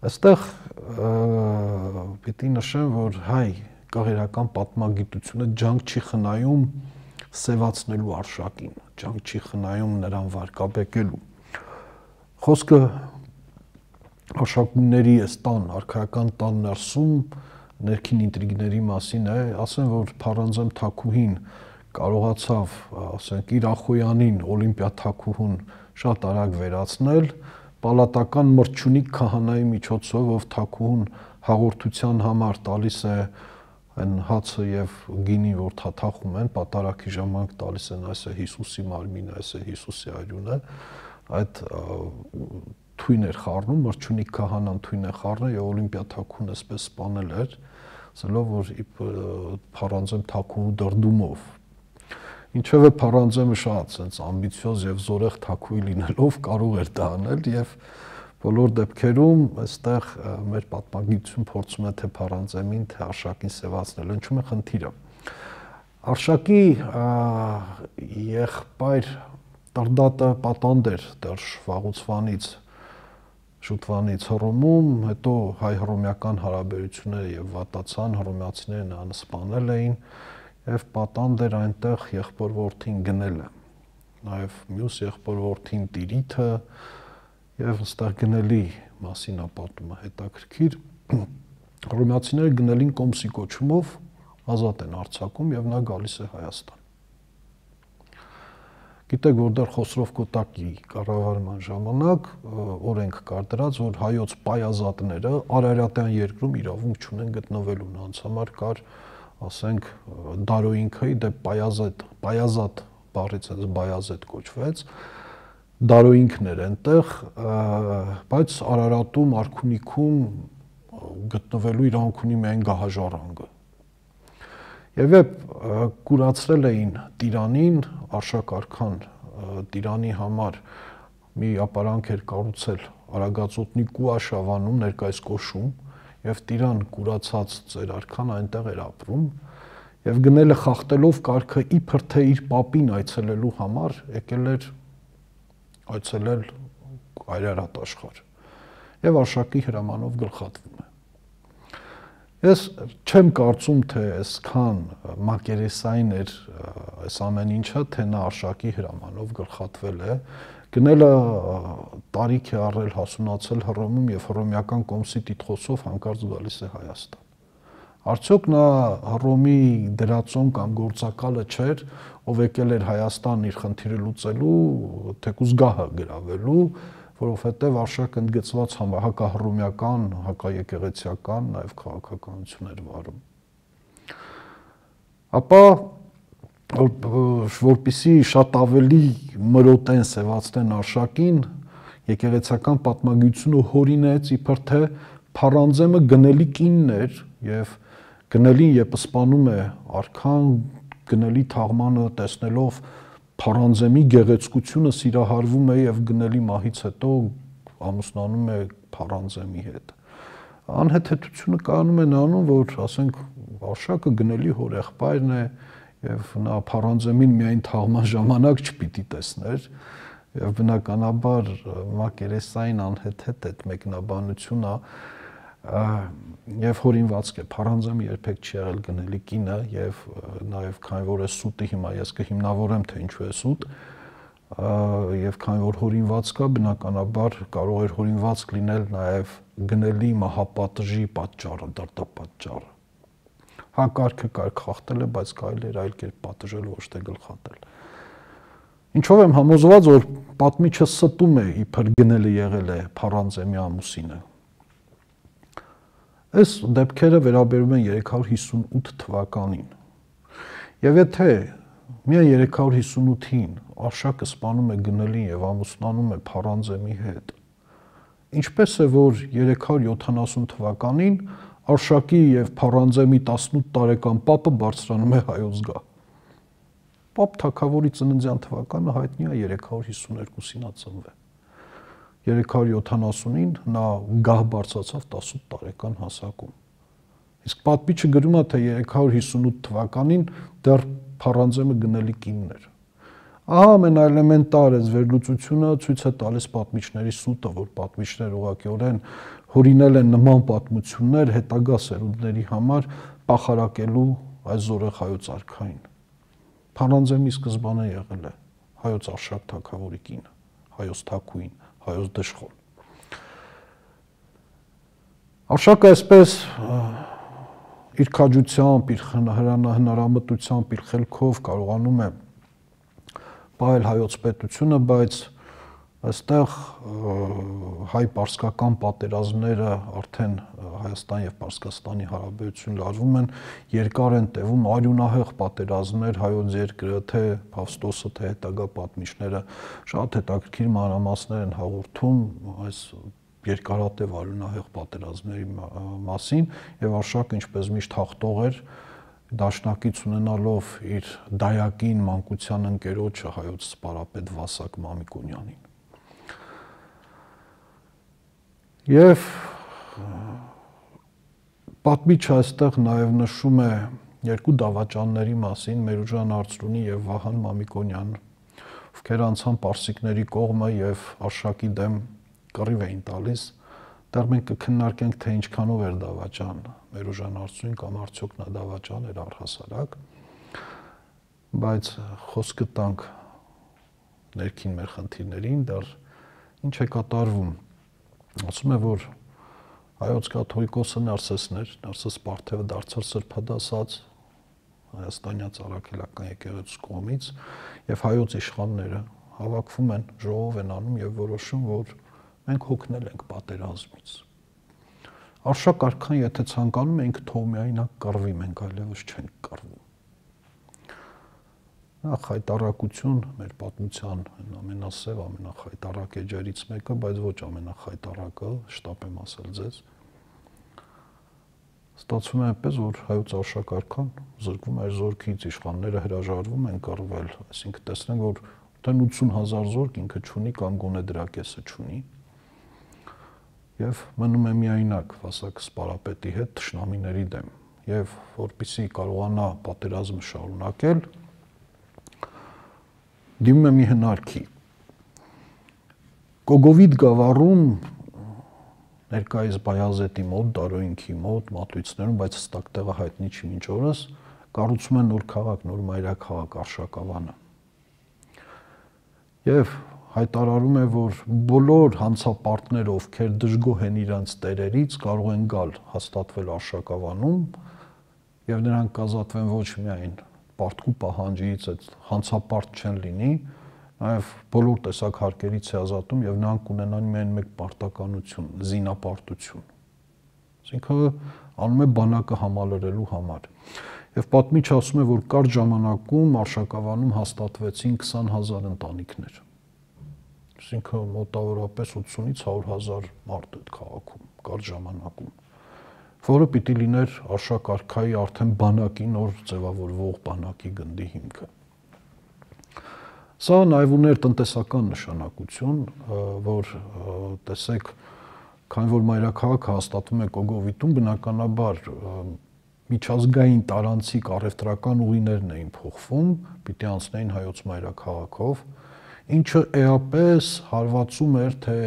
Այստեղ պիտի նշեմ, որ հայ կաղերական պատմագիտությունը ջանք չի խնայում սևացնելու արշակին, ջանք չի խնայում նրան վարկաբեկելու։ Խոսքը արշակունների այս տան, արքայական տան ներսում ներքին ինտրիգների մասին է, ասեմ, որ Փարանձեմ Թագուհին կարողացավ, ասենք, իր Ախոյանին, Օլիմպիա Թագուհուն շատ արագ վերացնել, պալատական մրջունիկ քահանայի միջոցով, ով Թագուհուն հաղորդության համար տալիս է այն հացը եւ գինին, որ թաթախում են, պատարագի ժամանակ տալիս են, այս է Հիսուսի մարմինը, այս է Հիսուսի արյունը, այդ թույն էր խառնում, մրջունիկ քահանան թույն է խառնել եւ Օլիմպիա Թագուհուն այսպես սպանել էր, ասելով, որ Փարանձեմ Թագուհու դրդումով։ Ինչևէ Փարանձեմը շատ sense ամբիցիոզ եւ զորեղ թագուհի լինելով կարող էր դա անել եւ բոլոր դեպքերում այստեղ մեր պատմագիտություն փորձում է թե Փարանձեմին, թե Արշակին սևացնել, ինչու՞մ է խնդիրը։ Արշակի եղբայր Տրդատը պատանդ էր դեռ վաղուց շուտվանից Հռոմում, հետո հայ-հռոմեական հարաբերությունները եւ վատացան, հռոմեացիները նրան սպանել էին եւ պատանդ էր այնտեղ եղբոր որդին գնել է, նաեւ մյուս եղբոր որդին Տիրիթը եւ այստեղ գնելի մասին ապատումը հետաքրքիր, հռոմեացիները գնելին Կոմսի կոչումով ազատ են արձակում եւ նա գալիս է Հայաստան։ Գիտեք, որ դեռ Խոսրով Կոտակի կառավարման ժամանակ օրենք կար դրած, որ հայոց պայազատները Արարատյան երկրում իրավունք չունեն գտնվելու, նրանց համար կար, ասենք, Դարոյինքը, դե պայազատ բառից այս բայազետ կոչվեց, Դարոյինքն էր այնտեղ, բայց Արարատում, Արքունիքում գտնվելու իրավունք ունի միայն գահաժառանգը։ Եվ կուրացրել էին Տիրանին, Արշակ արքան Տիրանի համար մի ապարանք էր կառուցել Արագածոտնի Կուաշավանում, ներկայիս Կոշում, եւ Տիրան կուրացած ծեր արքան այնտեղ էր ապրում, եւ գնել է խախտելով կարգը իբր թե իր պապին այցելելու համար, եկել էր այցելել Այրարատ աշխարհ եւ Արշակի հրամանով գլխատվում է։ Ես չեմ կարծում, թե այսքան մակերեսային էր այս ամեն ինչը, թե նա Արշակի հրամանով գլխատվել է, գնելը տարիք է առել հասունացել Հռոմում եւ հռոմեական կոմսի տիտղոսով հանկարծ գալիս է Հայաստան։ Արդյոք նա Հռոմի դրածոն կամ գործակալը չէր, ով եկել էր Հայաստան իր խնդիրը լուծելու, թեկուզ գահը գրավելու, որովհետև Արշակը ընդգծված հակահռոմեական, հակաեկեղեցիական, նաև քաղաքականություն էր վարում։ Ապա որպեսզի շատ ավելի մրոտեն սևացնեն Արշակին, եկեղեցական պատմագիտությունը հորինեց իբր թե Փարանձեմը գնելի կինն էր եւ գնելին երբ սպանում է արքան, գնելի թաղմանը տեսնելով Փարանձեմի գեղեցկությունը սիրահարվում է եւ գնելի մահից հետո ամուսնանում է Փարանձեմի հետ։ Անհեթեթությունը կայանում է նրանում, որ ասենք Արշակը գնելի հորեղբայրն է եւ նա Փարանձեմին միայն թաղման ժամանակ չպիտի տեսներ եւ բնականաբար մակերեսային անհեթեթ այդ մեկնաբանությունը եւ հորինվածք է Փարանձեմը երբեք չի եղել գնելի կինը եւ նաեւ քանի որ է սուտը հիմա ես կհիմնավորեմ թե ինչու է սուտ եւ քանի որ հորինվածք է բնականաբար կարող էր հորինվածք լինել նաեւ գնելի մահապատժի պատճառը, դրդապատճառը։ Հա կարգը կարգ խախտել է, բայց կարելի էր այլ կերպ պատժել, ոչ թե գլխատել։ Ինչով եմ համոզված, որ պատմիչը ստում է իբր գնելը եղել է Փարանձեմի ամուսինը։ Այս դեպքերը վերաբերում են 358 թվականին։ Եվ եթե միայն 358-ին Արշակը սպանում է գնելին եւ ամուսնանում է Փարանձեմի հետ, ինչպես է որ 370 թվականին Արշակի եւ Փարանձեմի 18 տարեկան պապը բարձրանում է հայոց գահ։ Պապ թագավորի ծննդյան թվականը հայտնի է 352-ին ծնվել։ 370-ին նա գահ բարձրացավ 18 տարեկան հասակում։ Իսկ պատմիչը գրում է, թե 358 թվականին դեռ Փարանձեմը գնելի կինն էր։ Ահա ամենաէլեմենտար այս վերլուծությունը ցույց է տալիս պատմիչների սուտը, որ պատմիչները ուղղակիորեն հորինել են նման պատմություններ հետագա սերունդների համար պախարակելու այս զորեղ հայոց արքային։ Փարանձեմի սկզբանե եղել է հայոց Արշակ թագավորի կինը, հայոց թագուհին, հայոց դժխոն։ Արշակը այսպես իր քաջությամբ, իր հնարամտությամբ, իր խելքով կարողանում է պահել հայոց պետությունը, բայց այստեղ հայ-պարսկական պատերազմները արդեն Հայաստան եւ Պարսկաստանի հարաբերություն լարվում են, երկար են տևում արյունահեղ պատերազմներ, հայոց երկրը, թե Փավստոսը, թե հետագա պատմիչները շատ հետաքրքիր մանրամասներ են հաղորդում այս երկարատև արյունահեղ պատերազմների մասին եւ Արշակը ինչպես միշտ հաղթող էր, դաշնակից ունենալով իր դայակին մանկության ընկերոջը հայոց սպարապետ Վասակ Մամիկոնյանին։ Եվ պատմիչը այստեղ նաև նշում է երկու դավաճանների մասին, Մերուժան Արծրունի եւ Վահան Մամիկոնյան, ովքեր անցան պարսիկների կողմը եւ Արշակի դեմ կռիվ էին տալիս։ Դեռ մենք կքննարկենք, թե ինչքանով էր դավաճան Մերուժան Արծրունին կամ արդյոք նա դավաճան էր առհասարակ, բայց խոսքը տանք ներքին մեր խնդիրներին, դեռ ինչ է կատարվում։ Ասում է, որ հայոց կաթողիկոսը Նարսեսն էր, Նարսես Պարթևը դարձել սրբադասած հայաստանյա ծառայական եկեղեցու կողմից եւ հայոց իշխանները հավաքվում են, ժողով են անում եւ որոշում, որ մենք հոգնել ենք պատերազմից։ Արշակ արքան, եթե ցանկանում ենք թող միայնակ կռվի, մենք այլևս չենք կռվում։ Նախ հայտարարություն մեր պատմության ամենասև, ամենախայտարակ էջերից մեկը, բայց ոչ ամենախայտարակը, շտապ եմ ասել ձեզ։ Ստացվում է այնպես, որ հայոց Արշակ արքան զրկվում է զորքից, իշխանները հրաժարվում են կռվել, այսինքն տեսնենք, որ մոտ 80,000 զորք ինքը չունի կամ գոնե դրա կեսը չունի։ Եվ մնում է միայնակ Վասակ Սպարապետի հետ թշնամիների դեմ, եւ որպեսզի կարողանա պատերազմը շարունակել, դիմում է մի հնարքի։ Կոգովիդ գավառում ներկայիս Բայազետի մոտ, Դարոյինքի մոտ, Մատույցներում, բայց հստակ տեղը հայտնի չի մինչ օրս, կառուցում են նոր քաղաք, նոր մայրաքաղաք Արշակավանը։ Եվ հայտարարում է, որ բոլոր հանցապարտները, ովքեր դժգոհ են իրենց տերերից, կարող են գալ հաստատվել Արշակավանում եւ նրանք կազատվեն ոչ միայն պարտքու պահանջից, այդ հանցապարտ չեն լինի, նաեւ բոլոր տեսակ հարկերից է ազատում եւ նրանք կունենան միայն մեկ պարտականություն՝ զինապարտություն։ Այսինքն անում է բանակը համալրելու համար։ Եվ պատմիչը ասում է, որ կարճ ժամանակում Արշակավանում հաստատվեցին 20,000 ընտանիքներ։ Այսինքն մոտավորապես 80-ից 100,000 մարդ այդ քաղաքում կարճ ժամանակում, որը պիտի լիներ Արշակ արքայի արդեն բանակի նոր ձևավորվող բանակի գնդի հիմքը։ Սա նաև ուներ տնտեսական նշանակություն, որ տեսեք, քանի որ մայրաքաղաքը հաստատվում է Կոգովիտում, բնականաբար միջազգային տարանցիկ առևտրական ուղիներն էին փոխվում, պիտի անցնեին հայոց մայրաքաղաքով, ինչը էապես հարվածում էր թե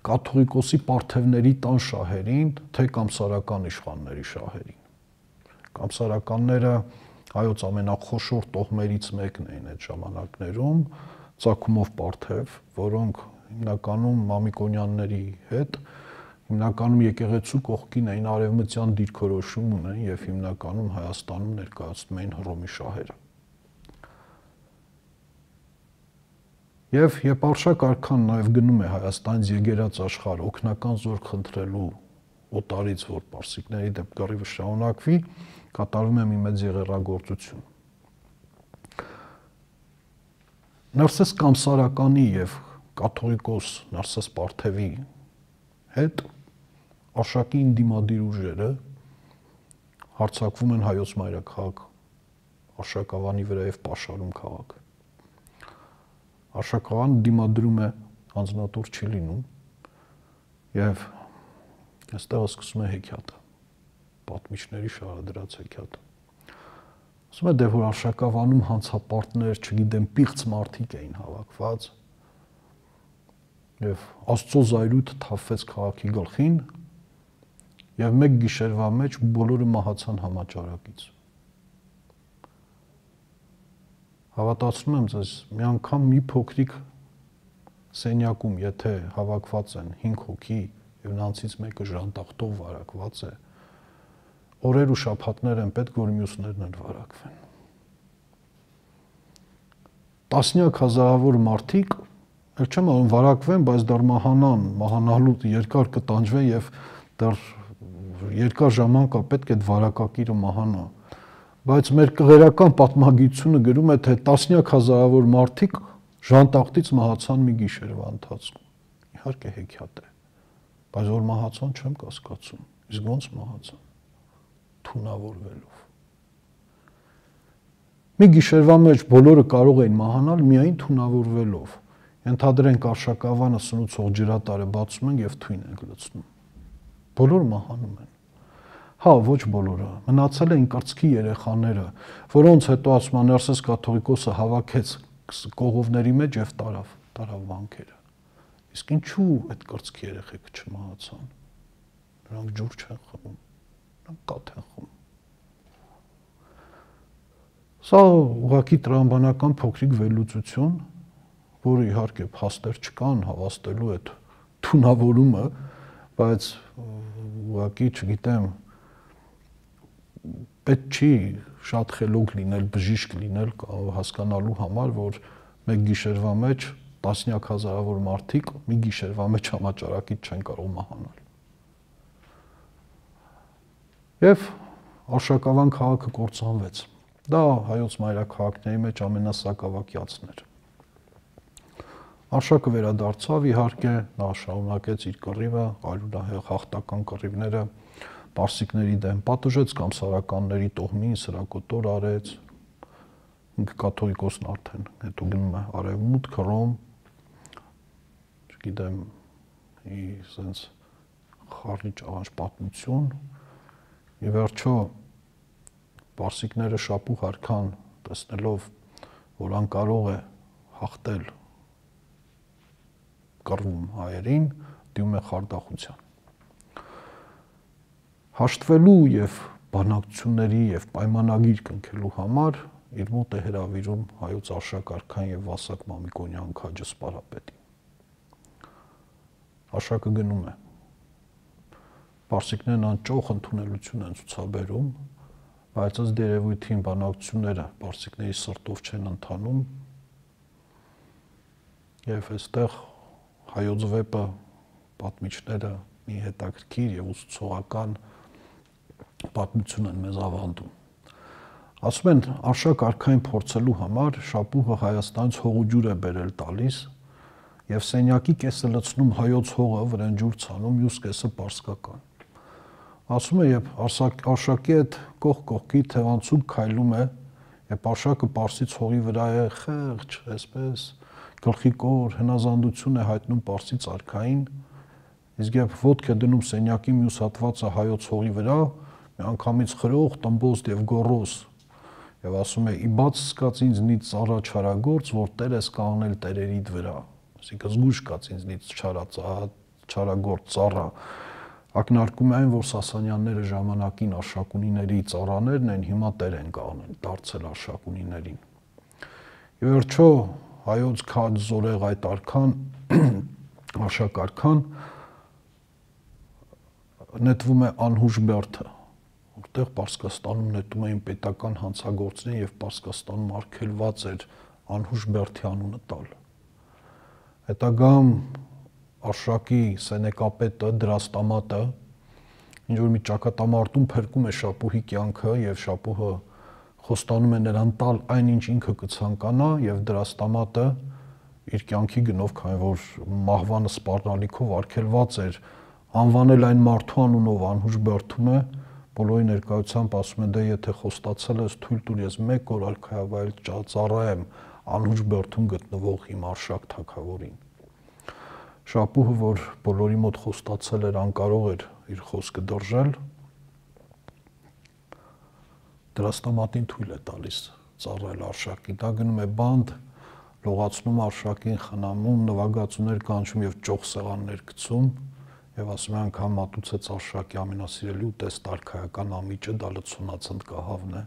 կաթողիկոսի պարթևների տան շահերին, թե կամսարական իշխանների շահերին։ Կամսարականները հայոց ամենախոշոր տոհմերից մեկն էին այդ ժամանակներում, Ծագումով պարթև, որոնք հիմնականում Մամիկոնյանների հետ, հիմնականում եկեղեցու կողքին էին, արևմտյան դիրքորոշում ունեն եւ հիմնականում Հայաստանում ներկայացնում էին Հռոմի շահերը։ Եվ երբ Արշակ արքան նաև գնում է Հայաստանից եկերած աշխարհ օգնական զորք խնդրելու օտարից, որ պարսիկների դեմ կռիվը շարունակվի, կատարվում է մի մեծ եղեռագործություն։ Նարսես Կամսարականի եւ կաթողիկոս Նարսես Պարթևի հետ Արշակի ինդիմադիր ուժերը հարձակվում են հայոց մայրաքաղաք Արշակավանի վրա եւ պաշարում քաղաքը։ Արշակավանը դիմադրում է, անձնատուր չի լինում եւ այստեղ սկսում է հեքիաթը, պատմիչների շարադրած հեքիաթը։ Ասում է, դե որ Արշակավանում հանցապարտներ, չգիտեմ, պիղծ մարդիկ էին հավաքված եւ Աստծո զայրույթը թափվեց քաղաքի գլխին եւ մեկ գիշերվա մեջ բոլորը մահացան համաճարակից։ Հավատացնում եմ ձեզ, մի անգամ մի փոքրիկ սենյակում, եթե հավաքված են 5 հոգի եւ նրանցից մեկը ժանտախտով վարակված է, օրեր ու շաբաթներ են պետք, որ մյուսներն էլ վարակվեն։ Տասնյակ հազարավոր մարդիկ, ել չեմ ասում վարակվեն, բայց դեռ մահանալու երկար կտանջվեն եւ դեռ երկար ժամանակ պետք է այդ վարակակիրը մահանա։ Բայց մեր կղերական պատմագիտությունը գրում է, թե տասնյակ հազարավոր մարդիկ ժանտախտից մահացան մի գիշերվա ընթացքում։ Իհարկե հեքիաթ է, բայց որ մահացան չեմ կասկածում։ Իսկ ոնց մահացան։ Թունավորվելով։ Մի գիշերվա մեջ բոլորը կարող էին մահանալ միայն թունավորվելով։ Ենթադրենք արշակավանը սնուցող ջրատարը բացում են եւ թույն են լցնում։ Բոլորը մահանում են։ Հա, ոչ բոլորը։ Մնացել էին կրծքի երեխաները, որոնց հետո ասում են Ներսես կաթողիկոսը հավաքեց կողովների մեջ եւ տարավ վանքերը։ Իսկ ինչու այդ կրծքի երեխեքը չմահացան։ Նրանք ջուր չեն խմում, նրանք կաթ են խմում։ Սա ուղղակի տրամաբանական փոքրիկ վերլուծություն, որը իհարկե փաստեր չկան հավաստելու այդ թունավորումը, բայց ուղղակի չգիտեմ, պետք չի շատ խելոք լինել, բժիշկ լինել հասկանալու համար, որ մեկ գիշերվա մեջ տասնյակ հազարավոր մարդիկ մի գիշերվա մեջ համաճարակից չեն կարող մահանալ։ Եվ Արշակավան քաղաքը կործանվեց։ Դա հայոց մայրաքաղաքների մեջ ամենասակավակյացն էր։ Արշակը վերադարձավ, իհարկե, նա շարունակեց իր կռիվը, արյունահեղ հաղթական կռիվները պարսիկների դեմ պատժեց, կամսարականների տոհմին սրակոտոր արեց, ինքը կաթողիկոսն արդեն, հետո գնում է արևմուտք, Հռոմ, չգիտեմ, սենց խառնի ճաղանջ պատմություն, ի վերջո պարսիկները շապուղ արքան տեսնելով, որ անկարող է հաղթել կռվում հայերին, դիմում է խարդախության։ Հաշտվելու եւ բանակցությունների եւ պայմանագիր կնքելու համար իր մոտ է հրավիրում հայոց Արշակարքան եւ Վասակ Մամիկոնյան քաջը սպարապետին։ Արշակը գնում է։ Պարսիկներն անճոխ ընդունելություն են ցուցաբերում, բայց ըստ երևույթին բանակցությունները պարսիկների սրտով չեն ընթանում եւ այստեղ հայոց վեպը պատմիչները մի հետաքրքիր եւ ուսուցողական պատմություն են մեզ ավանդում։ Ասում են Արշակ արքային փորձելու համար շապուղը Հայաստանից հողուջուր է բերել տալիս եւ սենյակի կեսը լցնում հայոց հողը, վրան ջուր ցանում, մյուս կեսը պարսկական։ Ասում է, երբ Արշակի հետ կողքի թևանցուկ քայլում է, երբ Արշակը Պարսից հողի վրա է խեղճ, այսպես գլխիկոր հնազանդություն է հայտնում Պարսից արքային, իսկ երբ ոտք է դնում սենյակի մյուս հատվածը հայոց հողի վրա, միանգամից խրող, տմբոստ եւ գոռոզ, եւ ասում է՝ «Ի բաց սկաց ինձնից ծառա չարագործ, որ տեր ես կանգնել տերերիդ վրա», այսինքն զգույշ կաց ինձնից չարագործ ծառա, ակնարկում է այն, որ Սասանյանները ժամանակին Արշակունիների ծառաներն են, հիմա տեր են կանգնել, դարձել Արշակունիներին։ Ի վերջո հայոց քաջ զորեղ այդ արքան, Արշակ արքան նետվում է անհուժ բերդը, որտեղ Պարսկաստանում նետում էին պետական հանցագործներին եւ Պարսկաստանում արգելված էր անհուժ բերդի անունը տալ։ Հետագամ Արշակի սենեկապետը Դրաստամատը ինչ որ մի ճակատամարտում փրկում է շապուհի կյանքը եւ շապուհը խոստանում է նրան տալ այնինչ ինքը կցանկանա եւ Դրաստամատը իր կյանքի գնով, քանի որ մահվանը սպառնալիքով արգելված էր, անվանել այն մարդու անունով անհուժ բերդում է, բոլորի ներկայությամբ ասում է՝ դե եթե խոստացել ես, թույլ տուր ես 1 օր արքայավայել ծառայեմ անհուժ բերդում գտնվող իմ Արշակ թագավորին։ Շապուհը, որ բոլորի մոտ խոստացել էր, անկարող էր իր խոսքը դրժել, Դրաստամատին թույլ է տալիս ծառայել Արշակին, դա գնում է բանդ, լողացնում Արշակին, խնամում, նվագածուներ կանչում եւ ճոխ սեղաններ գցում, եւ ասում է անգամ մատուցեց Արշակի ամենասիրելի ուտեստ արքայական ամիջը, դա լցոնացընդ կահավն է,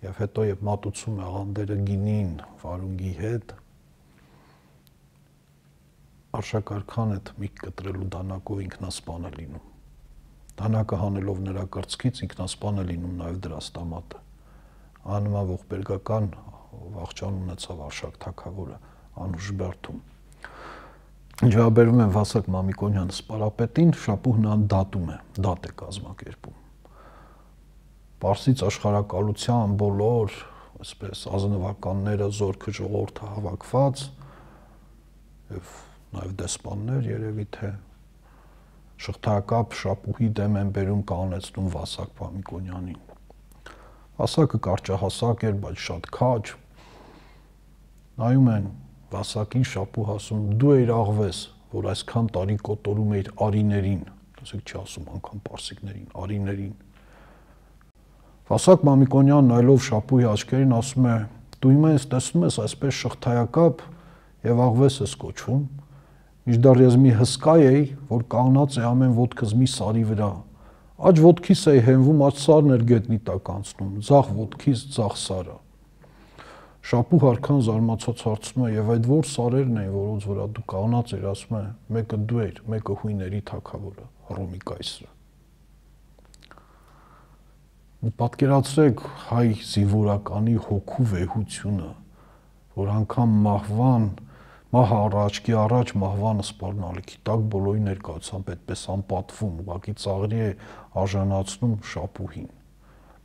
եւ հետո երբ մատուցում է աղանդերը գինին վարունգի հետ, Արշակ արքան այդ միք կտրելու դանակով ինքնասպան է լինում, դանակը հանելով նրա կրծքից ինքնասպան է լինում նաեւ դրաստամատը, աննման ողբերգական վախճան ունեցավ Արշակ թագավորը անուշ բերդում։ Ջավաբերվում են Վասակ Մամիկոնյանը սպարապետին, Շապուհն ան դատում է, դատ է կազմակերպում։ Պարսից աշխարհակալության բոլոր, այսպես ազնվականները, զորքը ժողովուրդը հավաքված եւ նաեւ դեսպաններ երևի թե շղթայակապ Շապուհի դեմ են բերում կանոնեցնում Վասակ Մամիկոնյանին։ Վասակը կարճահասակ էր, բայց շատ քաջ։ Նայում են Վասակին, Շապուհ ասում դու էիր աղվես, որ այսքան տարի կոտորում էիր արիներին, ասեք չի ասում անգամ պարսիկներին, արիներին։ Վասակ Մամիկոնյանն նայելով Շապուհի աչքերին ասում է դու հիմա ինձ տեսնում ես այսպես շղթայակապ եւ աղվես ես կոչվում, միշտար ես մի հսկա էի, որ կանգնած է ամեն ոտքս մի սարի վրա, աջ ոտքիս էի հենվում, աջ սարն էր գետնի տակ անցնում, ձախ ոտքիս ձախ սարը։ Շապուհ արքան զարմացած հարցնում է եւ այդ որ սարերն էին, որոնց վրա դու կանգնած էր, ասում է մեկը դու էր, մեկը հույների թագավորը, Հռոմի կայսրը։ Պատկերացրեք հայ զինվորականի հոգու վեհությունը, որ անգամ մահ առաջքի առաջ մահվանը սպառնալիքի տակ բոլորի ներկայությամբ այդպես անպատվում, ուղղակի ծաղրի է արժանացնում Շապուհին։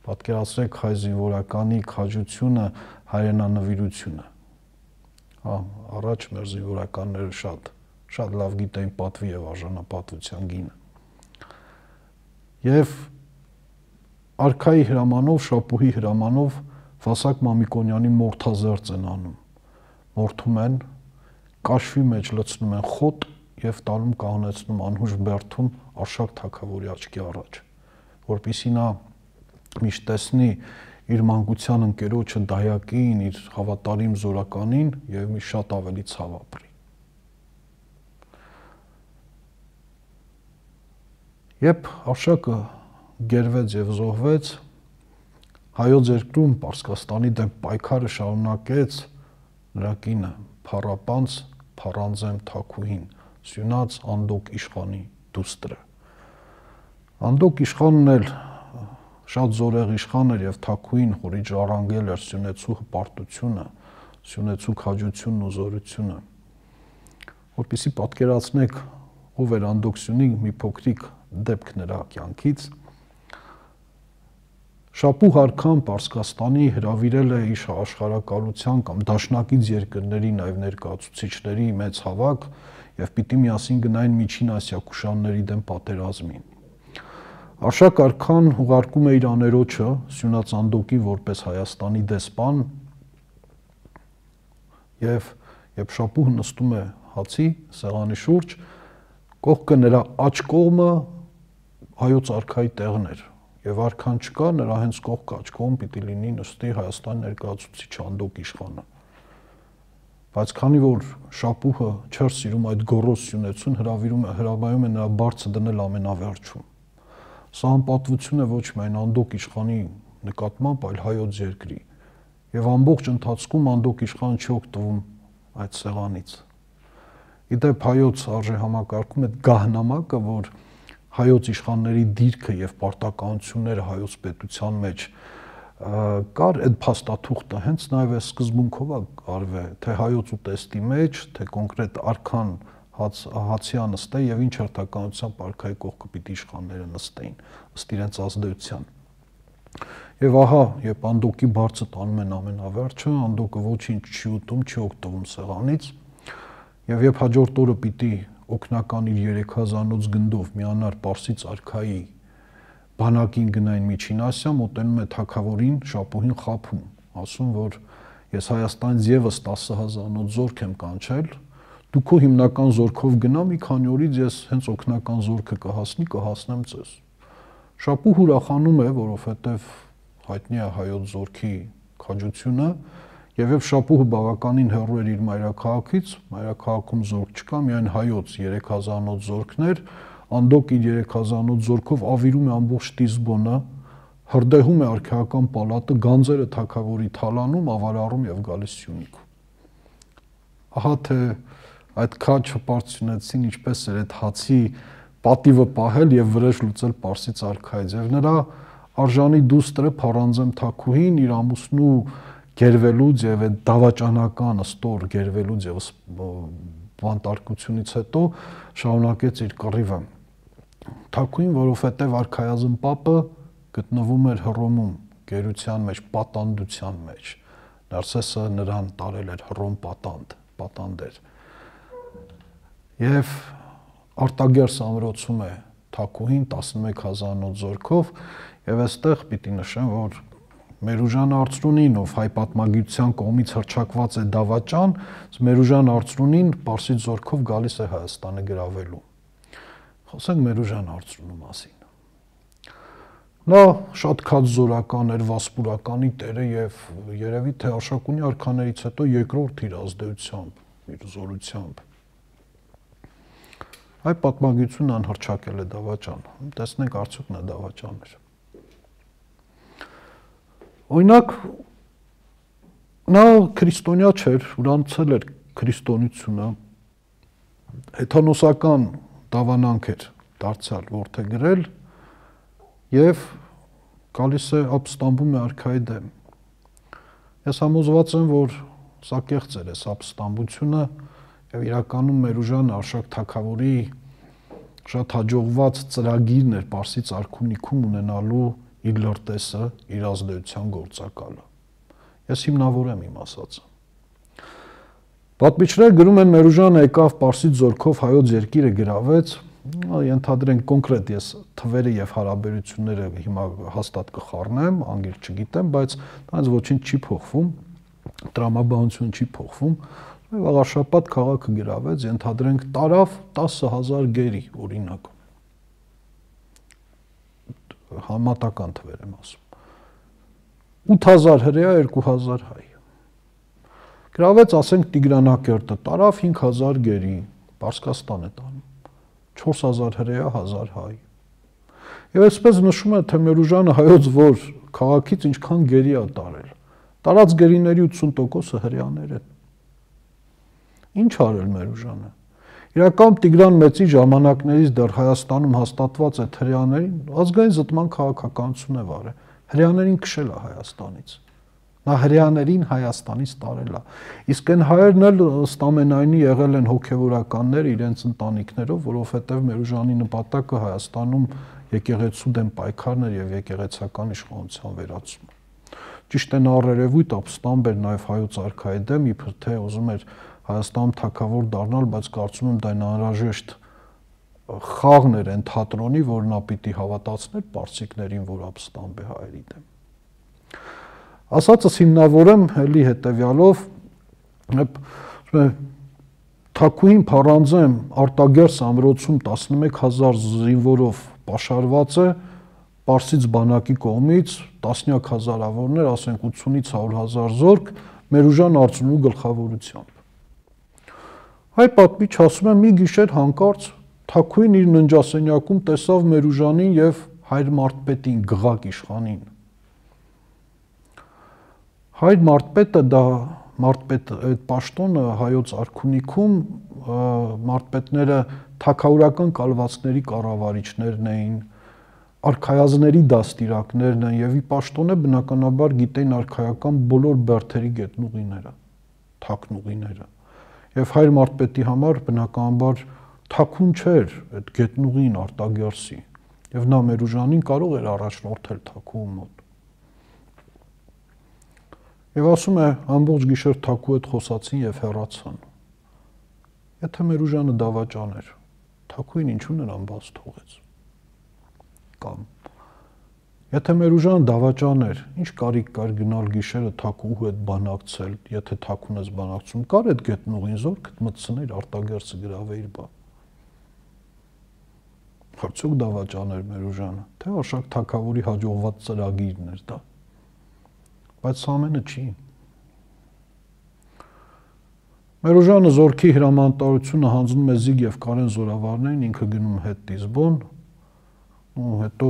Պատկերացրեք հայ զինվորականի քաջությունը, հայրենանվիրությունը։ Հա, առաջ մեր զինվորականները շատ լավ գիտեին պատվի եւ արժանապատվության գինը։ Եվ արքայի հրամանով, Շապուհի հրամանով Վասակ Մամիկոնյանի մորթազերծ են անում։ Մորթում են, կաշվի մեջ լցնում են խոտ եւ տանում կանոնեցնում անհուժ բերդում Արշակ թագավորի աչքի առաջ, որպեսզի նա միշտ տեսնի իր մանկության ընկերոջը դայակին, իր հավատարիմ զորականին եւ մի շատ ավելի ցավ ապրի։ Երբ Արշակը գերվեց եւ զոհվեց, հայոց երկրում Պարսկաստանի դեմ պայքարը շարունակեց նրա կինը Փառապանց Փառանձեմ Թաքուհին, Սյունած Անդոկ իշխանի դուստրը։ Անդոկ իշխանն էլ շատ զորեղ իշխան էր եւ Թաքուհին խորի ժառանգել էր Սյունեցու հպարտությունը, Սյունեցու քաջությունն ու զորությունը։ Որպեսզի պատկերացնեք ով էր Անդոկ Սյունի մի փոքրիկ դեպք նրա կյանքից, Շապուհ արքան Պարսկաստանի հրավիրել է իր աշխարհակալության կամ դաշնակից երկրների նաև ներկայացուցիչների մեծ հավաք եւ պիտի միասին գնային Միջին Ասիա կուշանների դեմ պատերազմին։ Արշակ արքան ուղարկում է իր աներոջը Սյունած Անդոկին որպես Հայաստանի դեսպան եւ երբ Շապուհը նստում է հացի սեղանի շուրջ, կողքը նրա աջ կողմը հայոց արքայի տեղն էր։ Եվ արքան չկա, նրա հենց կողքը աջ կողմ պիտի լինի նստի Հայաստանի ներկայացուցիչ Անդոկ իշխանը։ Բայց քանի որ Շապուհը չէր սիրում այդ գոռոզ Սյունեցուն, հրավիրում է նրա բարձը դնել ամենավերջում։ Սա անպատվություն է ոչ միայն Անդոկ իշխանի նկատմամբ, այլ հայոց երկրի։ Եվ ամբողջ ընթացքում Անդոկ իշխանը չի օգտվում այդ սեղանից։ Իդեպ հայոց արժեհամակարգում այդ գահնամակը, որ հայոց իշխանների դիրքը եւ պարտականությունները հայոց պետության մեջ կար այդ փաստաթուղթը հենց նաեւ այս սկզբունքով է արվել, թե հայոց ուտեստի մեջ, թե կոնկրետ արքան հացիա նստե եւ ինչ հերթականությամբ արքայի կողքը պիտի իշխանները նստեին ըստ իրենց ազդեցության։ Եվ ահա, երբ Անդոկի բարձը տանում են ամենավերջը, Անդոկը ոչինչ չի ուտում, չի օգտվում սեղանից, եւ երբ հաջորդ օրը պիտի օգնական իր 3000-ից գնդով միանար Պարսից արքայի բանակին գնային Միջին Ասիա, մոտենում է թագավորին, Շապուհին խաբում, ասում, որ ես Հայաստանից եւս 10,000-ից զորք եմ կանչել, դու քո հիմնական զորքով գնա, մի քանի օրից ես հենց օգնական զորքը կհասնեմ ձեզ։ Շապուհ ուրախանում է, որովհետեւ հայտնի է հայոց զորքի քաջությունը, եւ երբ Շապուհը բավականին հեռու էր իր մայրաքաղաքից, մայրաքաղաքում զորք չկա, միայն հայոց 3000-ից զորքներ, Անդոկ իր 3000-ոց զորքով ավիրում է ամբողջ Տիզբոնը, հրդեհում է արքայական պալատը, գանձերը թագավորի թալանում, ավարարում եւ գալիս Սյունիք։ Ահա թե այդ քաջ հպարտությունեցին ինչպես էր այդ հացի պատիվը պահել եւ վրեժ լուծել Պարսից արքայից եւ նրա արժանի դուստրը Փարանձեմ Թագուհին իր ամուսնու գերվելուց եւ այդ դավաճանական ստոր գերվելուց եւ բանտարկությունից հետո շարունակեց իր կռիվը։ Թագուհին, որովհետեւ արքայազն պապը գտնվում էր Հռոմում, գերության մեջ, պատանդության մեջ։ Նարսեսը նրան տարել էր Հռոմ պատանդ էր։ Եվ արտագերս ամրոցում է Թագուհին 11000-ոց զորքով եւ այստեղ պիտի նշեմ, որ Մերուժան Արծրունին, ով հայ պատմագիտության կողմից հռչակված է դավաճան, Մերուժան Արծրունին Պարսից զորքով գալիս է Հայաստանը գրավելու։ Խոսենք Մերուժան Արծրունու մասին։ Նա շատ քաջ զորական էր, վասպուրականի տերը եւ երևի թե Արշակունի արքաներից հետո երկրորդ իր ազդեցությամբ, իր զորությամբ։ Հայ պատմագիտությունը անհռչակել է դավաճան։ Տեսնենք արդյոք նա դավաճան էր։ Օրինակ նա քրիստոնյա չէր, ուրանցել էր քրիստոնեությունը, հեթանոսական դավանանք էր դարձյալ որդեգրել եւ գալիս է ապստամբում է արքայի դեմ։ Ես համոզված եմ, որ սա կեղծ էր այս ապստամբությունը եւ իրականում Մերուժանը Արշակ թագավորի շատ հաջողված ծրագիրն էր Պարսից արքունիքում ունենալու իր լրտեսը, իր ազդեցության գործակալը։ Ես հիմնավորեմ իմ ասածը։ Պատմիչները գրում են Մերուժանը եկավ Պարսից զորքով հայոց երկիրը գրավեց, ենթադրենք կոնկրետ ես թվերը եւ հարաբերությունները հիմա հաստատ կխառնեմ, անգիր չգիտեմ, բայց դրանց ոչինչ չի փոխվում, տրամաբանությունը չի փոխվում։ Վաղարշապատ քաղաքը գրավեց, ենթադրենք տարավ 10000 գերի, օրինակ։ Համատական թվեր եմ ասում։ 8000 հրեա, 2000 հայ։ Գրավեց, ասենք Տիգրանակերտը, տարավ 5000 գերի, Պարսկաստան է տանում, 4000 հրեա, 1000 հայ։ Եվ այսպես նշում է, թե Մերուժանը հայոց որ քաղաքից ինչքան գերի է տարել։ Տարած գերիների 80%-ը հրեաներ են։ Ինչ արել Մերուժանը։ Իրական Տիգրան Մեծի ժամանակներից դեռ Հայաստանում հաստատված այդ հրեաներին ազգային զտման քաղաքականություն է վարել։ Հրեաներին քշել է Հայաստանից։ Նա հրեաներին Հայաստանից տարել է։ Իսկ այն հայերն էլ ըստ ամենայնի եղել են հոգևորականներ իրենց ընտանիքներով, որովհետև Մերուժանի նպատակը Հայաստանում եկեղեցու դեմ պայքարն էր եւ եկեղեցական իշխանության վերացումը։ Ճիշտ է, նա առերևույթ ապստամբ էր նաեւ հայոց արքայի դեմ, իբր թե ուզում էր Հայաստանում թագավոր դառնալ, բայց կարծում եմ դա անհրաժեշտ խաղն էր այն թատրոնի, որ նա պիտի հավատացներ պարսիկներին, որ ապստամբ է հայերի դեմ։ Ասածս հիմնավորեմ էլի հետևյալով, Թագուհին Փարանձեմ արտագերս ամրոցում 11000 զինվորով պաշարված է Պարսից բանակի կողմից, տասնյակ հազարավորներ, ասենք 80-ից 100.000 զորք Մերուժան Արծրունու գլխավորությամբ։ Հայ պատմիչ ասում է մի գիշեր հանկարծ Թագուհին իր ննջասենյակում տեսավ Մերուժանին եւ հայր Մարտպետին գղակ իշխանին։ Հայր Մարտպետը դա Մարտպետ այդ պաշտոնը հայոց արքունիքում Մարտպետները թագավորական կալվածքների կառավարիչներն էին, արքայազների դաստիարակներն են եւ ի պաշտոնը բնականաբար գիտեին արքայական բոլոր բերդերի գետնուղիները, թաքնուղիները։ Եվ հայր Մարտպետի համար բնականաբար թաքուն չէր այդ գետնուղին արտագերսի եւ նա Մերուժանին կարող էր առաջնորդել թաքուի մոտ։ Եվ ասում է ամբողջ գիշեր թաքու հետ խոսացին եւ հեռացան։ Եթե Մերուժանը դավաճան էր, թաքուին ինչու նրան բաց թողեց։ Կամ եթե Մերուժան դավաճան էր, ինչ կարիք կար գնալ գիշերը թաքուհու հետ բանակցել, եթե թաքուն ես բանակցում, կար այդ գետնուղին զորքդ մտցներ արտագերսը գրավեիր բա։ Արդյոք դավաճան էր Մերուժանը, թե Արշակ թագավորի հաջողված ծրագիրն էր դա։ Բայց սա ամենը չի։ Մերուժանը զորքի հրամանատարությունը հանձնում է Զիգ եւ Կարեն զորավարներին, ինքը գնում հետ Դիզբոն, ու հետո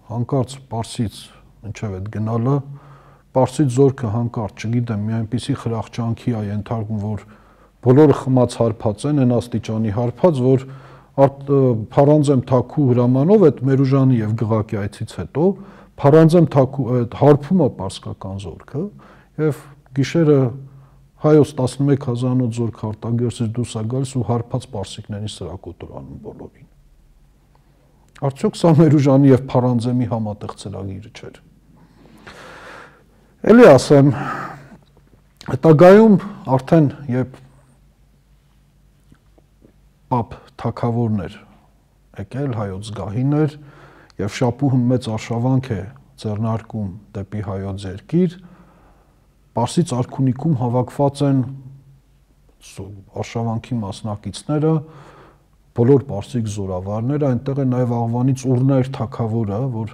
հանկարծ Պարսից ինչև այդ գնալը, Պարսից զորքը հանկարծ, չգիտեմ, մի այնպիսի խրախճանքի է ենթարկվում, որ բոլորը խմած հարբած են, այն աստիճանի հարբած, որ Փարանձեմ Թաքու հրամանով այդ Մերուժանի եւ Գղակի այցից հետո Փարանձեմ Թաքու այդ հարբումը պարսկական զորքը եւ գիշերը հայոց 11000-ով զորք արտագերծից դուրս է գալիս ու հարբած պարսիկներին սրակոտորանում բոլորին։ Արդյոք սա Մերուժանի եւ Փարանձեմի համատեղ ծրագիրը չէր։ Էլի ասեմ, հետագայում արդեն երբ Պապ թագավորներ եկել, հայոց զգահիներ եւ շապուհը մեծ արշավանք է ձեռնարկում դեպի հայոց երկիր, Պարսից արքունիքում հավաքված են արշավանքի մասնակիցները, բոլոր պարսիկ զորավարները, այնտեղ է նաեւ Աղվանից Ուռներ թագավորը, որ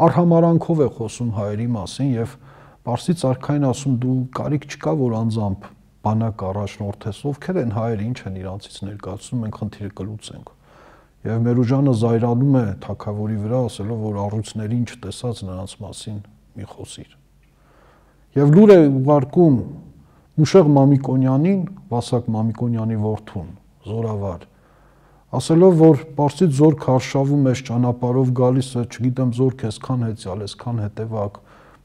արհամարանքով է խոսում հայերի մասին եւ Պարսից արքային ասում դու կարիք չկա որ անձամբ բանակ առաջնորդես, ովքեր են հայերը, ինչ են իրանցից ներկայացնում, մենք խնդիրը կլուծենք։ Եվ Մերուժանը զայրանում է թագավորի վրա, ասելով, որ առույցներին չտեսած նրանց մասին մի խոսիր։ Եվ լուր է ուղարկում Մուշեղ Մամիկոնյանին, Վասակ Մամիկոնյանի որդուն, զորավար, ասելով, որ Պարսից զորք արշավում է ճանապարհով գալիս է, չգիտեմ, զորք այսքան հեծյալ, այսքան հետևակ,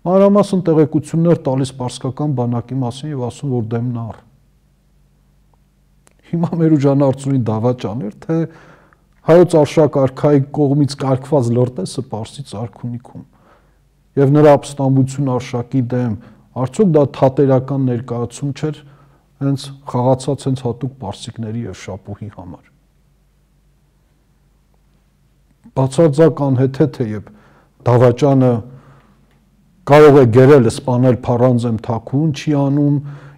մանրամասն տեղեկություններ տալիս պարսկական բանակի մասին եւ ասում, որ դեմն առ։ Հիմա Մերուժանը արծունի դավաճան էր, թե հայոց արշակ արքայի կողմից կարգված լրտեսը Պարսից արքունիքում եւ նրա ապստամբություն արշակի դեմ, արդյոք դա թատերական ներկայացում չէր հենց խաղացած հենց հատուկ պարսիկների եւ շապուհի համար։ Բացարձակ անհեթեթ է, երբ դավաճանը կարող է գերել սպանել Փարանձեմ Թաքուն, չի անում,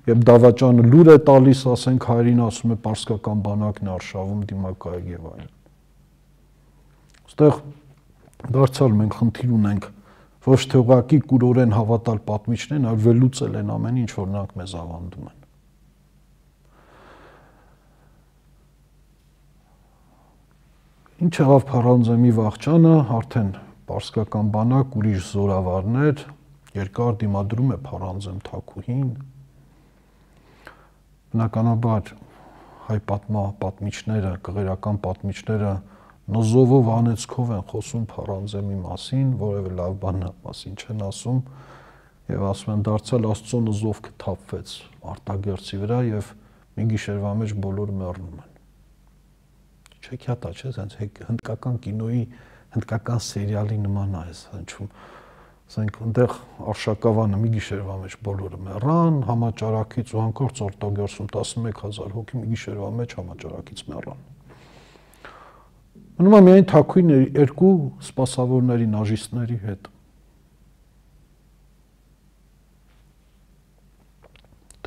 եւ դավաճանը լուր է տալիս, ասենք հայրին ասում է պարսկական բանակն արշավում դիմակայեք եւ այլն։ Այստեղ դարձյալ մենք խնդիր ունենք ոչ թե ուղղակի կուրորեն հավատալ պատմիչներին, այլ վերլուծել են ամեն ինչ, որ նրանք մեզ ավանդում են։ Ինչ եղավ Փարանձեմի վաղճանը, արդեն պարսկական բանակ, ուրիշ զորավարներ, երկար դիմադրում է Փարանձեմ Թաքուհին։ Բնականաբար հայ պատմիչները, կղերական պատմիչները նոզովով անեցքով են խոսում Փարանձեմի մասին, որևէ լավ բան մասին չեն ասում եւ ասում են դարձյալ Աստծո նոզովքը թափվեց արտագերծի վրա եւ մի գիշերվա մեջ բոլորը մեռնում են։ Չեքիաթա չէ, sense հնդկական կինոյի, հնդկական սերիալի նման է այս հնչում։ Ասենք այնտեղ արշակավանը մի գիշերվա մեջ բոլորը մեռան, համաճարակից ու հանկարծ արտագերծում 11000 հոգի մի գիշերվա մեջ համաճարակից մեռան։ Մնում է միայն Թաքուին երկու սպասավորների նաժիստների հետ։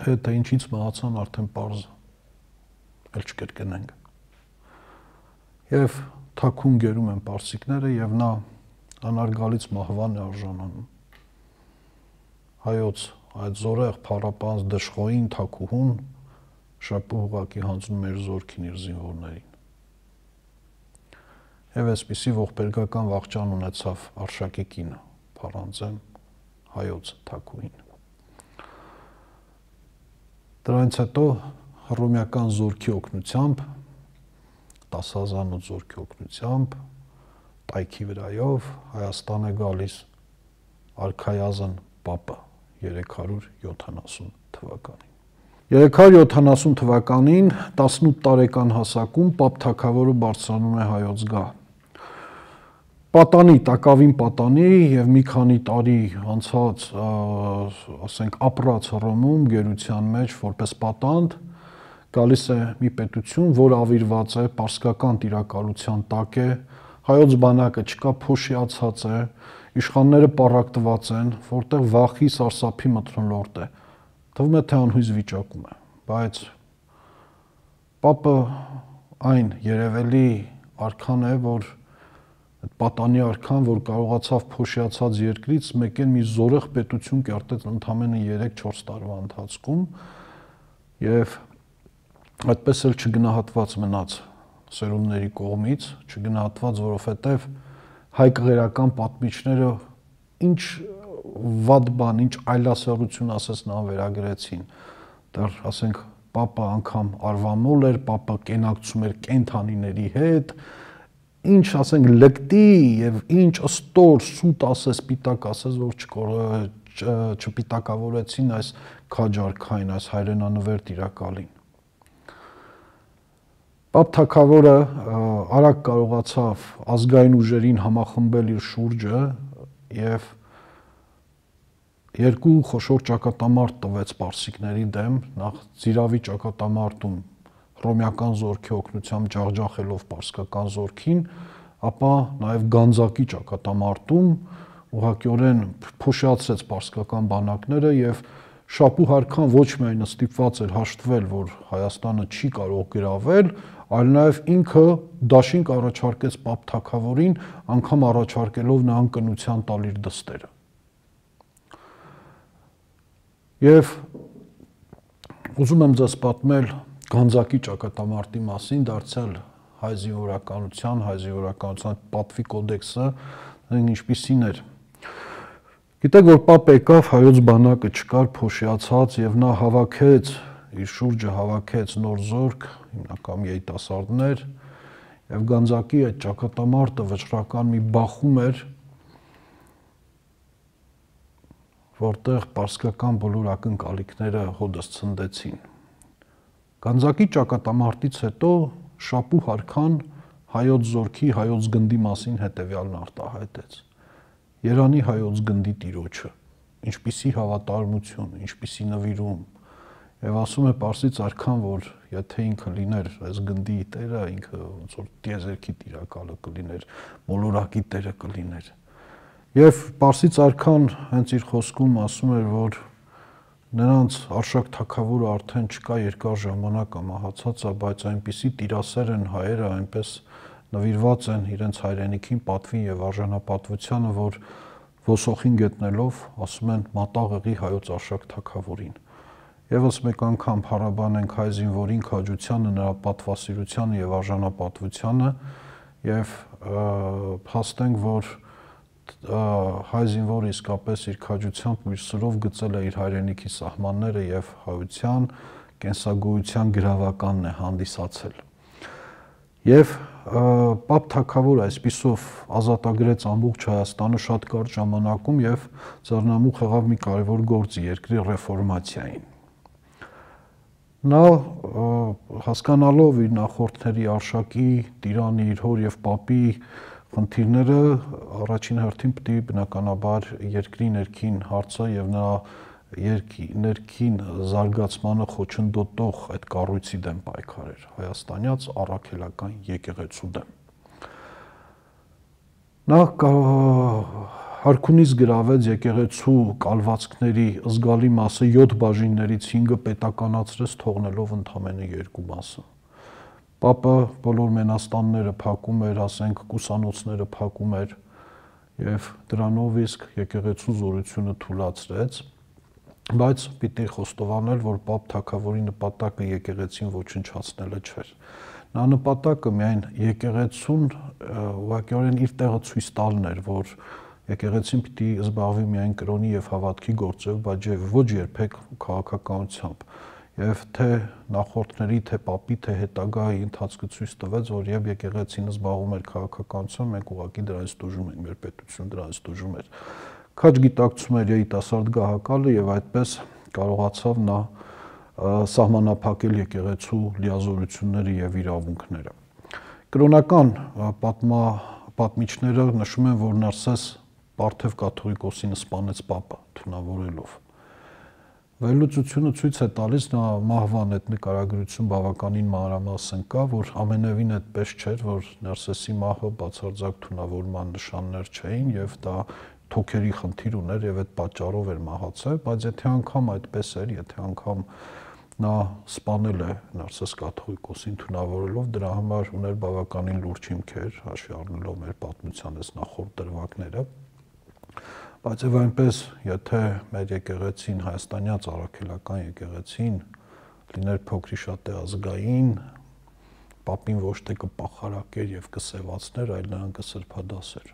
Թե ինչից մահացան արդեն պարզ էլ չկրկնենք։ Եվ Թաքուն գերում են պարսիկները եւ նա անարգալից մահվան է արժանանում։ Հայոց այդ զորեղ փառապանց դժխոյին Թաքուհուն շապուհուղակի հանձնում էր զորքին իր զինվորներին։ Եվ այսպիսի ողբերգական վաղճան ունեցավ Արշակի կինը, Փարանձեմ հայոց Թաքուհին։ Դրանից հետո հռոմեական զորքի օգնությամբ, 10,000 զորքի օգնությամբ, տայքի վրայով Հայաստան է գալիս արքայազն Պապը 370 թվականին։ 370 թվականին 18 տարեկան հասակում Պապ թագավորը բարձրանում է հայոց գահ։ Պատանի, տակավին պատանի եւ մի քանի տարի անցած, ասենք, ապրած Հռոմում գերության մեջ որպես պատանդ գալիս է մի պետություն, որ ավիրված է պարսկական տիրակալության տակ է, հայոց բանակը չկա, փոշիացած է, իշխանները պառակտված են, որտեղ վախի սարսափի մթնոլորտ է։ Թվում է թե անհույս վիճակում է, բայց Պապը այն երևելի արքան է, որ այդ պատանի արքան, որ կարողացավ փոշիացած երկրից մեկեն մի զորեղ պետություն կերտել ընդամենը 3-4 տարվա ընթացքում եւ այդպես էլ չգնահատված մնաց սերունդների կողմից, չգնահատված, որովհետև հայ կղերական պատմիչները ինչ վատ բան, ինչ այլասերություն ասես նրան վերագրեցին, դեռ ասենք պապը անգամ արվամոլ էր, պապը կենակցում էր կենթանիների հետ, ինչ ասենք լկտի եւ ինչ ըստոր սուտ ասես, պիտակ ասես, որ չպիտակավորեցին այս քաջարքային, այս հայրենանվեր տիրակալին։ Պապ թագավորը արագ կարողացավ ազգային ուժերին համախմբել իր շուրջը եւ երկու խոշոր ճակատամարտ տվեց պարսիկների դեմ, նախ Զիրավի ճակատամարտում հռոմեական զորքի օգնությամբ ջախջախելով պարսկական զորքին, ապա նաև Գանձակի ճակատամարտում ուղղակիորեն փոշիացրեց պարսկական բանակները եւ Շապու Հարքան ոչ միայն ստիպված էր հաշտվել, որ Հայաստանը չի կարող գրավել, այլ նաև ինքը դաշինք առաջարկեց Պապ թագավորին, անգամ առաջարկելով նրան կնության տալ իր դստերը։ Եվ ուզում եմ ձեզ պատմել Գանձակի ճակատամարտի մասին, դարձյալ հայ զինվորականության պատվի կոդեքսը ինչպիսին էր։ Գիտեք, որ Պապ եկավ, հայոց բանակը չկար, փոշիացած, եւ նա հավաքեց իր շուրջը հավաքեց նոր զորք, հիմնական երիտասարդներ, եւ Գանձակի այդ ճակատամարտը վճռական մի բախում էր, որտեղ պարսկական բոլոր ակնկալիքները հոդս ցնդեցին։ Գանձակի ճակատամարտից հետո Շապու Հարքան հայոց զորքի, հայոց գնդի մասին հետևյալն արտահայտեց. Երանի հայոց գնդի տիրոջը, ինչպիսի հավատարմություն, ինչպիսի նվիրում, եւ ասում է Պարսից արքան, որ եթե ինքը լիներ այս գնդի տերը, ինքը ոնց որ տիեզերքի տիրակալը կլիներ, մոլորակի տերը կլիներ։ Եվ Պարսից արքան հենց իր խոսքում ասում էր, որ նրանց Արշակ թագավորը արդեն չկա, երկար ժամանակ ամահացած է, բայց այնպիսի տիրասեր են հայերը, այնպես նվիրված են իրենց հայրենիքին, պատվին եւ արժանապատվությանը, որ ոսոխին գտնելով ասում են մատաղ եղի հայոց Արշակ թագավորին։ Եվս մեկ անգամ փառաբանենք հայ զինվորին, քաջությանը, նրա պատվասիրությանը եւ արժանապատվությանը եւ փաստենք, որ հայ զինվորը իսկապես իր քաջությամբ ու իր սրով գծել է իր հայրենիքի սահմանները եւ հայության, կենսագոյության գրավականն է հանդիսացել։ Եվ Պապ թագավորը այսպիսով ազատագրեց ամբողջ Հայաստանը շատ կարճ ժամանակում եւ ձեռնամուխ եղավ մի կարևոր գործի երկրի ռեֆորմացիային։ Նա հասկանալով իր նախորդների Արշակի, Տիրանի, իր հոր եւ Պապի խնդիրները առաջին հերթին պետք է բնականաբար երկրի ներքին հարցը եւ նրա ներքին զարգացմանը խոչընդոտող այդ կառույցի դեմ պայքարեր, հայաստանյաց առաքելական եկեղեցու դեմ։ Նա Հարքունից գրավեց եկեղեցու կալվածքների զգալի մասը 7 բաժիններից 5-ը պետականացրեց, թողնելով ընդամենը 2 մասը։ Պապը բոլոր մենաստանները փակում էր, ասենք կուսանոցները փակում էր եւ դրանով իսկ եկեղեցու զորությունը թուլացրեց, բայց պիտի խոստովանել, որ Պապ թագավորի նպատակը եկեղեցին ոչնչացնելը չէր։ Նա նպատակը միայն եկեղեցուն ուղղակիորեն իր տեղը ցույց տալն էր, որ եկեղեցին պիտի զբաղվի միայն կրոնի եւ հավատքի գործով, բայց ոչ երբեք քաղաքականությամբ։ Եվ թե նախորդների, թե Պապի, թե հետագայի ընթացքը ցույց տվեց, որ եւ եկեղեցին զբաղվում էր քաղաքականությամբ, մենք ուղղակի դրանից տուժում ենք, մեր պետությունը դրանից տուժում էր։ Քաջ գիտակցում էր երիտասարդ գահակալը եւ այդպես կարողացավ նա սահմանափակել եկեղեցու լիազորությունները եւ իրավունքները։ Կրոնական պատմիչները նշում են, որ Նարսես Պարթև կաթողիկոսին սպանեց Պապը, թունավորելով։ Վերլուծությունը ցույց է տալիս, նա մահվան այդ նկարագրություն բավականին մանրամասն կա, որ ամենևին այդպես չէր, որ Նարսեսի մահը բացարձակ թունավորման նշաններ չէին եւ դա թոքերի խնդիր ուներ եւ այդ պատճառով էր մահացել, բայց եթե անգամ այդպես էր, եթե անգամ նա սպանել է Նարսես կաթողիկոսին թունավորելով, դրա համար ուներ բավականին լուրջ հիմքեր, հաշվի առնելով մեր պատմության այս նախորդ դրվագները։ Բայց եւ այնպես, եթե մեր եկեղեցին, հայաստանյաց առաքելական եկեղեցին լիներ փոքրի շատ ազգային, պապին ոչ թե կպախարակեր եւ կսեվացներ, այլ նրան կսրբադասեր։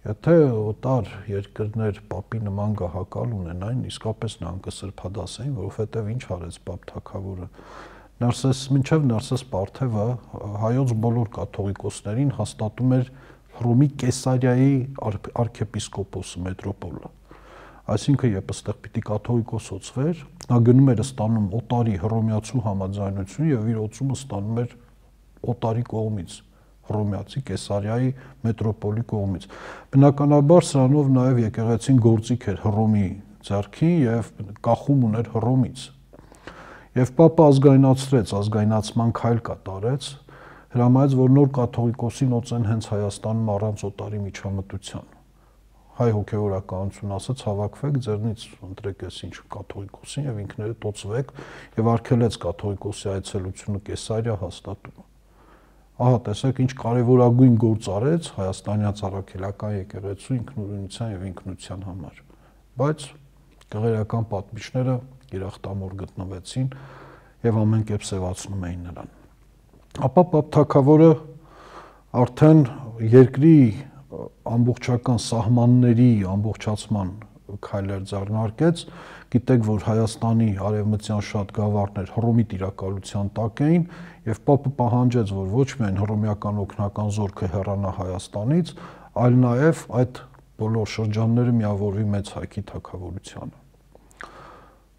Եթե օտար երկրներ պապի նման գահակալ ունենային, իսկապես նրան կսրբադասեին, որովհետև ինչ արեց պապ թագավորը։ Մինչև Նարսես Պարթևը հայոց բոլոր կաթողիկոսներին հաստատում էր Հռոմի Կեսարիայի arczepiskopos մետրոպոլը։ Այսինքն, երբ այստեղ պիտի կաթողիկոսացվեր, նա գնում էր ստանում օտարի հռոմեացու համաձայնություն եւ իր օծումը ստանում էր օտարի կողմից, հռոմեացի Կեսարիայի մետրոպոլի կողմից։ Բնականաբար սրանով նաև եկեղեցին գործիք էր Հռոմի ձեռքին եւ կախում ուներ Հռոմից։ Եվ պապը ազգայնացրեց, ազգայնացման քայլ կատարեց, հրամայեց, որ նոր կաթողիկոսին օծեն հենց Հայաստանում առանց օտարի միջամտության։ Հայ հոգևորականություն ասաց, հավաքվեք, ձեռնից ընտրեք այս ինչ կաթողիկոսին եւ ինքներդ օծվեք եւ արգելեց կաթողիկոսի այցելությունը Կեսարիա հաստատումը։ Ահա տեսեք ինչ կարևորագույն գործ արեց հայաստանյան առաքելական եկեղեցու ինքնուրույնության եւ ինքնության համար, բայց գեղերական պատմիչները երախտամոռ գտնվեցին եւ ամեն կերպ սեվացնում էին նրան։ Ապա պապ թագավորը արդեն երկրի ամբողջական սահմանների ամբողջացման քայլեր ձեռնարկեց, գիտեք, որ Հայաստանի արևմտյան շատ գավառներ Հռոմի տիրակալության տակ էին եւ պապը պահանջեց, որ ոչ միայն հռոմեական օգնական զորքը հեռանա Հայաստանից, այլ նաեւ այդ բոլոր շրջանները միավորվի մեծ հայքի թագավորությանը։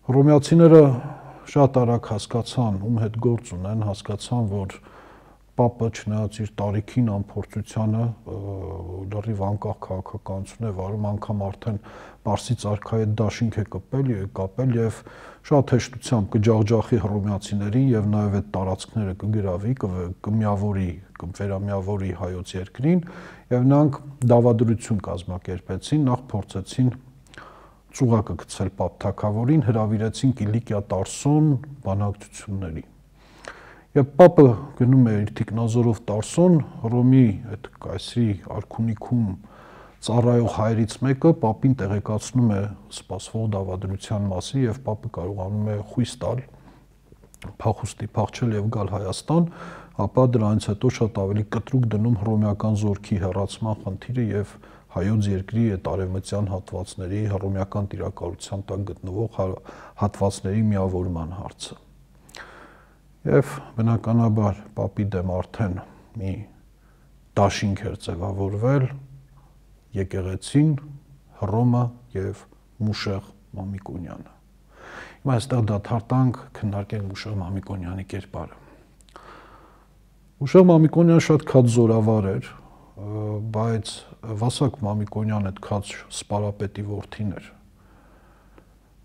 Հռոմեացիները շատ արագ հասկացան, ում հետ գործ ունեն, հասկացան, որ պապը չնայած իր տարիքին անփորձությանը լրիվ անկախ քաղաքականություն է վարում, անգամ արդեն Պարսից արքայի դաշինք է կապել եւ շատ հեշտությամբ կջախջախի հռոմեացիներին եւ նաեւ այդ տարածքները կգրավի, կմիավորի, կվերամիավորի հայոց երկրին եւ նրանք դավադրություն կազմակերպեցին, նախ փորձեցին ծուղակը գցել պապ թագավորին, հրավիրեցին Կիլիկիա Տարսոն բանակցությունների։ Եվ պապը գնում է իր թիկնազորով Տարսոն, Հռոմի այդ կայսրի արքունիքում ծառայող հայրից մեկը պապին տեղեկացնում է սպասվող դավադրության մասին եւ պապը կարողանում է խույս տալ փախուստի փախչել եւ գալ Հայաստան, ապա դրանից հետո շատ ավելի կտրուկ դնում հռոմեական զորքի հեռացման խնդիրը եւ հայոց երկրի այդ արևմտյան հատվածների հռոմեական տիրակալության տակ գտնվող հատվածների միավորման հարցը։ Եվ բնականաբար պապի դեմ արդեն մի դաշինք էր ձևավորվել եկեղեցին, Հռոմը եւ Մուշեղ Մամիկոնյանը։ Հիմա այստեղ դադարտանք քննարկենք Մուշեղ Մամիկոնյանի կերպարը։ Մուշեղ Մամիկոնյանը շատ քաջ զորավար էր, բայց Վասակ Մամիկոնյանը այդ քաջ սպարապետի որդին էր։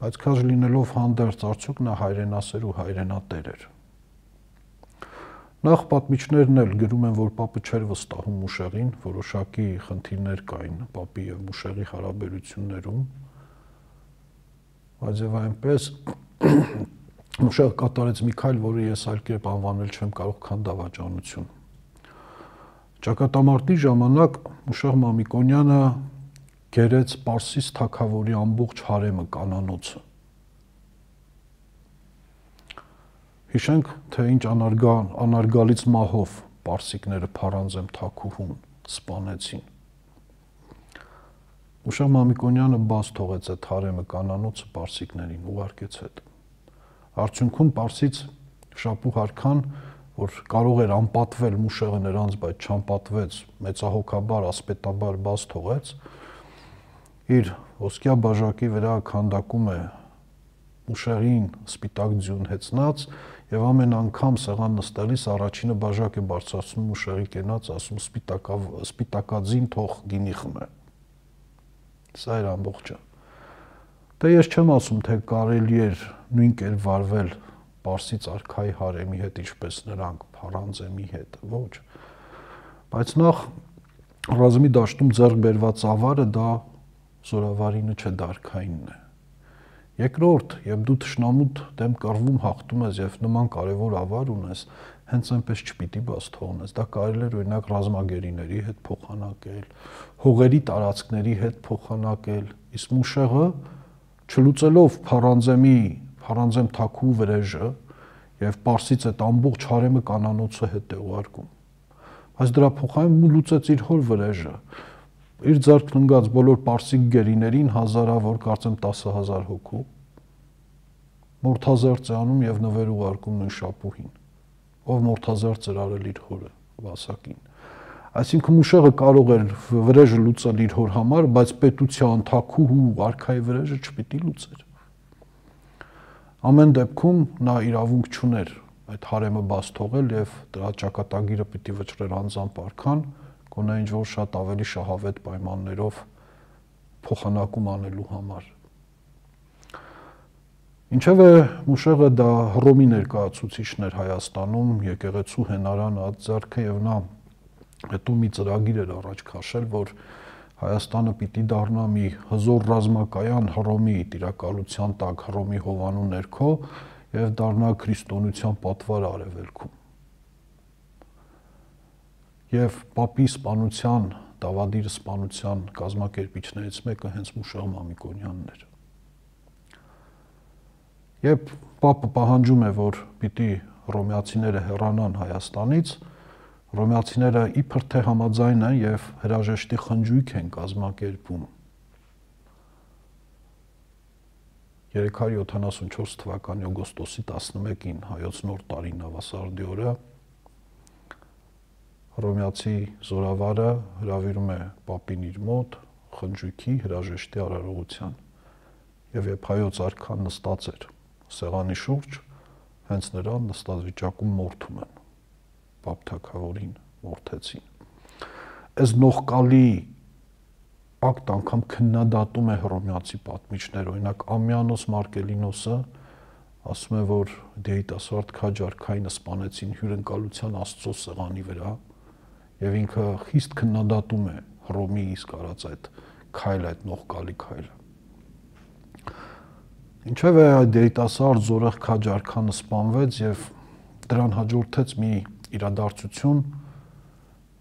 Բայց քաջ լինելով հանդերձ արդյոք նա հայրենասեր ու հայրենատեր էր։ Նախ պատմիչներն էլ գրում են, որ պապը չէր վստահում Մուշեղին, որոշակի խնդիրներ կային պապի եւ Մուշեղի հարաբերություններում, բայց եւ այնպես Մուշեղը կատարեց մի քայլ, որը ես այլ կերպ անվանել չեմ կարող, քան դավաճանություն։ Ճակատամարտի ժամանակ Մուշեղ Մամիկոնյանը գերեց Պարսից թագավորի ամբողջ հարեմը կանանոցը։ Հիշենք, թե ինչ անարգալից մահով պարսիկները Փարանձեմ թագուհուն սպանեցին։ Մուշեղ Մամիկոնյանը բաց թողեց այդ հարեմը կանանոցը պարսիկներին, ուղարկեց հետ։ Արդյունքում Պարսից շապուհ արքան, որ կարող էր անպատվել Մուշեղը նրանց, բայց չանպատվեց, մեծահոգաբար, ասպետաբար բաց թողեց, իր ոսկյա բաժակի վրա քանդակում է Մուշեղին սպիտակ ձյուն հեծնած եւ ամեն անգամ սեղան նստելիս առաջինը բաժակ է բարձրացնում Մուշեղի կենաց, ասում սպիտակաձին թող գինի խմե։ Սա էր ամբողջը։ Դե ես չեմ ասում, թե կարելի էր նույն կերպ վարվել Պարսից արքայի հարեմի հետ, ինչպես նրանք Փարանձեմի հետ, ոչ։ Բայց նախ ռազմի դաշտում ձեռք բերված ավարը դա զորավարինը չէ, դարքայինն է։ Երկրորդ, երբ դու թշնամուդ դեմ կռվում հաղթում ես եւ նման կարեւոր ավար ունես, հենց այնպես չպիտի բաց թողնես։ Դա կարելի է օրինակ ռազմագերիների հետ փոխանակել, հողերի տարածքների հետ փոխանակել, իսկ Մուշեղը չլուծելով Փարանձեմ թաքու վրեժը, եւ Պարսից այդ ամբողջ հարեմը կանանոցը հետ է ուղարկում։ Բայց դրա փոխարեն լուծեց իր հոր վրեժը։ Իր ձեռքն ընկած բոլոր պարսիկ գերիներին հազարավոր, կարծեմ 10,000 հոգու Մորթազերծ է անում եւ նվեր ուղարկում նույն շապուհին, ով Մորթազերծ էր արել իր հորը Վասակին։ Այսինքն Մուշեղը կարող էր վրեժը լուծել իր հոր համար, բայց պետության, թագուհու, արքայի վրեժը չպիտի լուծեր։ Ամեն դեպքում նա իրավունք չուներ այդ հարեմը բաց թողել եւ դրա ճակատագիրը պիտի վճռեր անձամբ արքան, գոնե ինչ որ շատ ավելի շահավետ պայմաններով փոխանակում անելու համար։ Ինչևէ Մուշեղը դա Հռոմի ներկայացուցիչն էր Հայաստանում, եկեղեցու հենարան ածձեռքը եւ նա հետո մի ծրագիր էր առաջ քաշել, որ Հայաստանը պիտի դառնա մի հզոր ռազմակայան Հռոմի տիրակալության տակ, Հռոմի հովանու ներքո եւ դառնա քրիստոնեության պատվար արևելքում։ Եվ Պապի սպանության, Դավադիր սպանության կազմակերպիչներից մեկը հենց Մուշեղ Մամիկոնյանն էր։ Երբ Պապը պահանջում է, որ պիտի հռոմեացիները հեռանան Հայաստանից, հռոմեացիները իբր թե համաձայն են եւ հրաժեշտի խնջույք են կազմակերպում 374 թվականի օգոստոսի 11-ին հայոց նոր տարի նավասարդի օրը հռոմեացի զորավարը հրավիրում է Պապին իր մոտ խնջույքի հրաժեշտի արարողության եւ երբ հայոց արքան նստած էր սեղանի շուրջ հենց նրան նստած վիճակում մորթում են Պապ թագավորին մորթեցին։ Այս նողկալի ակտ անգամ քննադատում է հռոմեացի պատմիչներ, օրինակ Ամյանոս Մարկելինոսը ասում է, որ դեիտասարդ քաջ արքայինը սպանեցին հյուրընկալության Աստծո սեղանի վրա եւ ինքը խիստ քննադատում է Հռոմի իսկ արած այդ քայլը, այդ նողկալի քայլը։ Ինչևէ այդ դեիտասարդ զորեղ քաջ արքանը սպանվեց եւ դրան հաջորդեց մի իրադարձություն,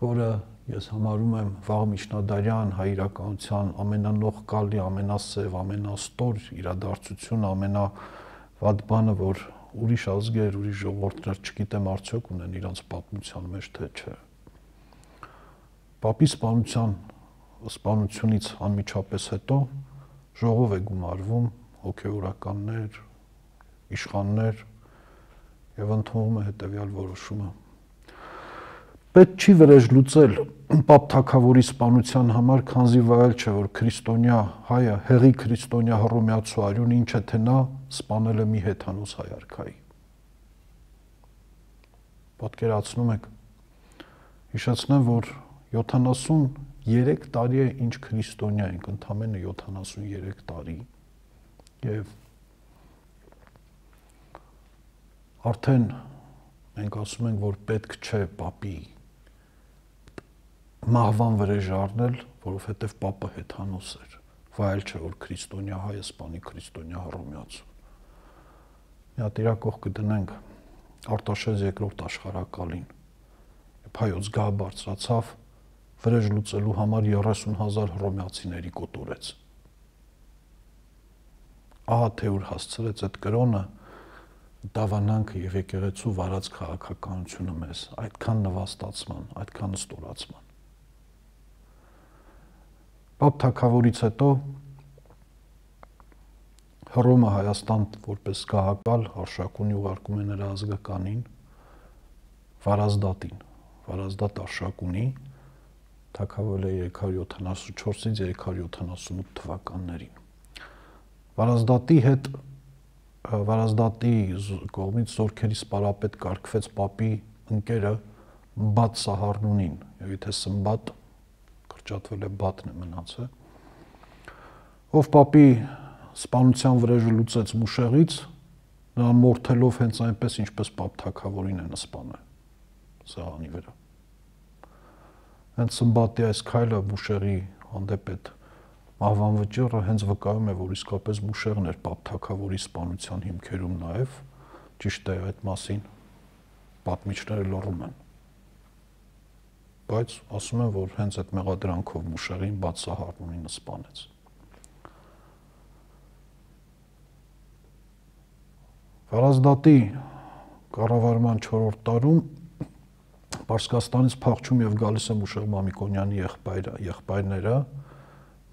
որը ես համարում եմ վաղ միջնադարյան հայ իրականության ամենանողկալի, ամենասև, ամենաստոր իրադարձությունը, ամենավատ բանը, որ ուրիշ ազգեր, ուրիշ ժողովուրդներ չգիտեմ արդյոք ունեն իրանց պատմության մեջ թե չէ։ Պապի սպանությունից անմիջապես հետո ժողով է գումարվում հոգևորականներ, իշխաններ եւ ընդունվում է հետեւյալ որոշումը։ Պետք չի վրեժ լուծել Պապ թագավորի սպանության համար, քանզի վայել չէ, որ քրիստոնյա հայը, հեղի քրիստոնյա հռոմեացու արյուն ինչ է թե նա սպանել է մի հեթանոս հայ արքայի։ Պատկերացնում եք, հիշեցնեմ, որ 73 տարի է ինչ քրիստոնյա ենք, ընդամենը 73 տարի եւ արդեն մենք ասում ենք, որ պետք չէ Պապի մահվան վրեժ առնել, որովհետեւ Պապը հեթանոս էր, վայել չէ, որ քրիստոնյա հայը սպանի քրիստոնյա հռոմեացուն։ Մի հատ իրակող կդնենք Արտաշես II աշխարհակալին, երբ հայոց գահ բարձրացավ, վրեժ լուծելու համար 30,000 հռոմեացիների կոտորեց։ Ահա թե ուր հասցրեց այդ կրոնը դավանանքը եւ եկեղեցու վարած քաղաքականությունը մեզ, այդքան նվաստացման, այդքան ստորացման։ Պապ թագավորից հետո Հռոմը Հայաստան որպես գահակալ արշակունի ուղարկում է նրա ազգականին Վարազդատին, Վարազդատ արշակունի թագավորել է 374-ից 378 թվականներին։ Վարազդատի կողմից զորքերի սպարապետ կարգվեց Պապի ընկերը Բաթ Սահարնունին, եւ եթե Սմբատ կրճատվել է Բաթն է մնացել, ով Պապի սպանության վրեժը լուծեց Մուշեղից, նրան մորթելով հենց այնպես, ինչպես Պապ թագավորին են սպանել սեղանի վրա։ Հենց Սմբատի այս քայլը Մուշեղի հանդեպ այդ մահվան վճիռը հենց վկայում է, որ իսկապես Մուշեղն էր Պապ թագավորի սպանության հիմքերում նաև, ճիշտ է այդ մասին պատմիչները լռում են։ Բայց ասում են, որ հենց այդ մեղադրանքով Մուշեղին Բաթ Սահարնունին սպանեց։ Վարազդատի կառավարման 4-րդ տարում Պարսկաստանից փախչում եւ գալիս է Մուշեղ Մամիկոնյանի եղբայրները,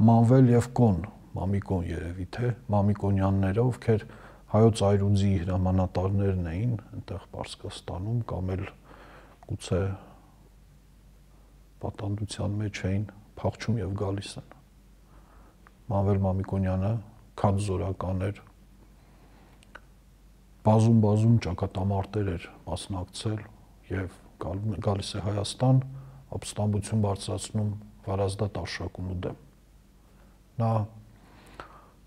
Մանվել եւ Կոն, Մամիկոն երևի թե, Մամիկոնյանները, ովքեր հայոց այրուձի հրամանատարներն էին այնտեղ Պարսկաստանում կամ էլ գուցե պատանդության մեջ էին, փախչում եւ գալիս են։ Մանվել Մամիկոնյանը քանզորական էր, բազում ճակատամարտեր էր մասնակցել եւ գալիս է Հայաստան, ապստամբություն բարձրացնում Վարազդատ Արշակունու դեմ։ Նա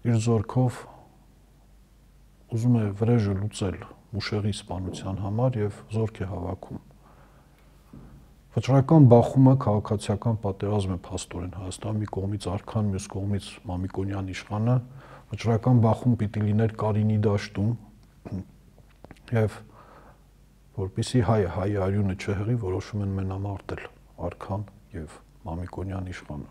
իր զորքով ուզում է վրեժը լուծել Մուշեղի սպանության համար եւ զորք է հավաքում։ Վճռական բախումը քաղաքացիական պատերազմ է փաստորեն Հայաստանում, մի կողմից արքան, մյուս կողմից Մամիկոնյան իշխանը, վճռական բախում պիտի լիներ Կարինի դաշտում եւ որպեսզի հայ արյունը չհղի, որոշում են մենամարտել արքան եւ Մամիկոնյան իշխանը։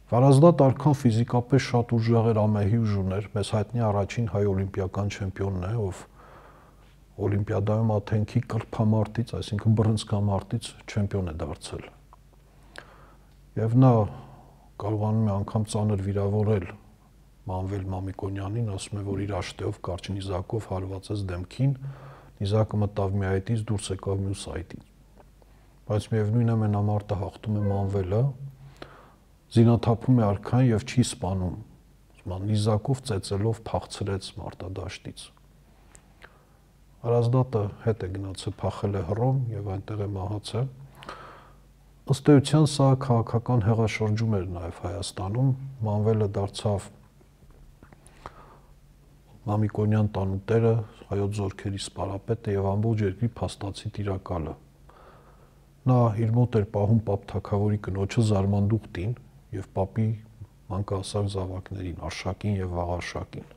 Վարազդատ արքան ֆիզիկապես շատ ուժեղ էր, ամեհի ուժուներ, մեզ հայտնի առաջին հայ օլիմպիական չեմպիոնն է, ով Օլիմպիադայում Աթենքի կրփամարտից, այսինքն բռնցքամարտից չեմպիոն է դարձել։ Եվ նա կարողանում է անգամ ծանր վիրավորել Մանվել Մամիկոնյանին, ասում է, որ իր աշտեով կարճ նիզակով հարվածեց դեմքին, նիզակը մտավ մի այտից, դուրս եկավ մյուս այտից։ Բայց միևնույն է մենամարտը հաղթում է Մանվելը, զինաթափում է արքան եւ չի սպանում։ Նիզակով ծեծելով փախցրեց մարտադաշտից։ Վարազդատը հետ է գնացել, փախել է Հռոմ եւ այնտեղ է մահացել։ Ըստ էության սա քաղաքական հեղաշրջում էր նաեւ Հայաստանում, Մանվելը դարձավ Մամիկոնյան տանուտերը, հայոց զորքերի սպարապետը եւ ամբողջ երկրի փաստացի տիրակալը։ Նա իր մոտ էր պահում Պապ Թագավորի կնոջը Զարմանդուխտին եւ Պապի մանկահասակ զավակներին, Արշակին եւ Վաղարշակին։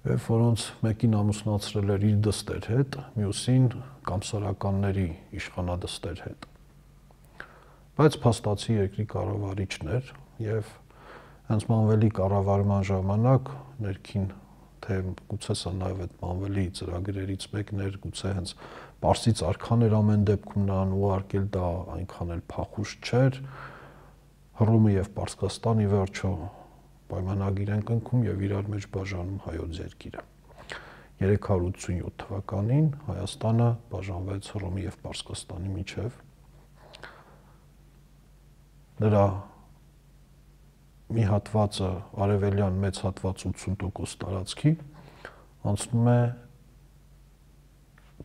Եվ որոնց մեկին ամուսնացրել էր իր դստեր հետ, մյուսին կամսարականների իշխանադստեր հետ։ Բայց փաստացի երկրի կառավարիչն էր եւ հենց Մանվելի կառավարման ժամանակ ներքին թե գուցե սա նաեւ այդ Մանվելի ծրագրերից մեկն էր, գուցե հենց Պարսից արքան էր ամեն դեպքում նրան ուղարկել, դա այնքան էլ փախուստ չէր։ Հռոմը եւ Պարսկաստանի վերջո պայմանագիր են կնքում եւ իրար մեջ բաժանում հայոց երկիրը։ 387 թվականին Հայաստանը բաժանվեց Հռոմի եւ Պարսկաստանի միջև։ Նրա մի հատվածը, արևելյան մեծ հատված 80% տարածքի անցնում է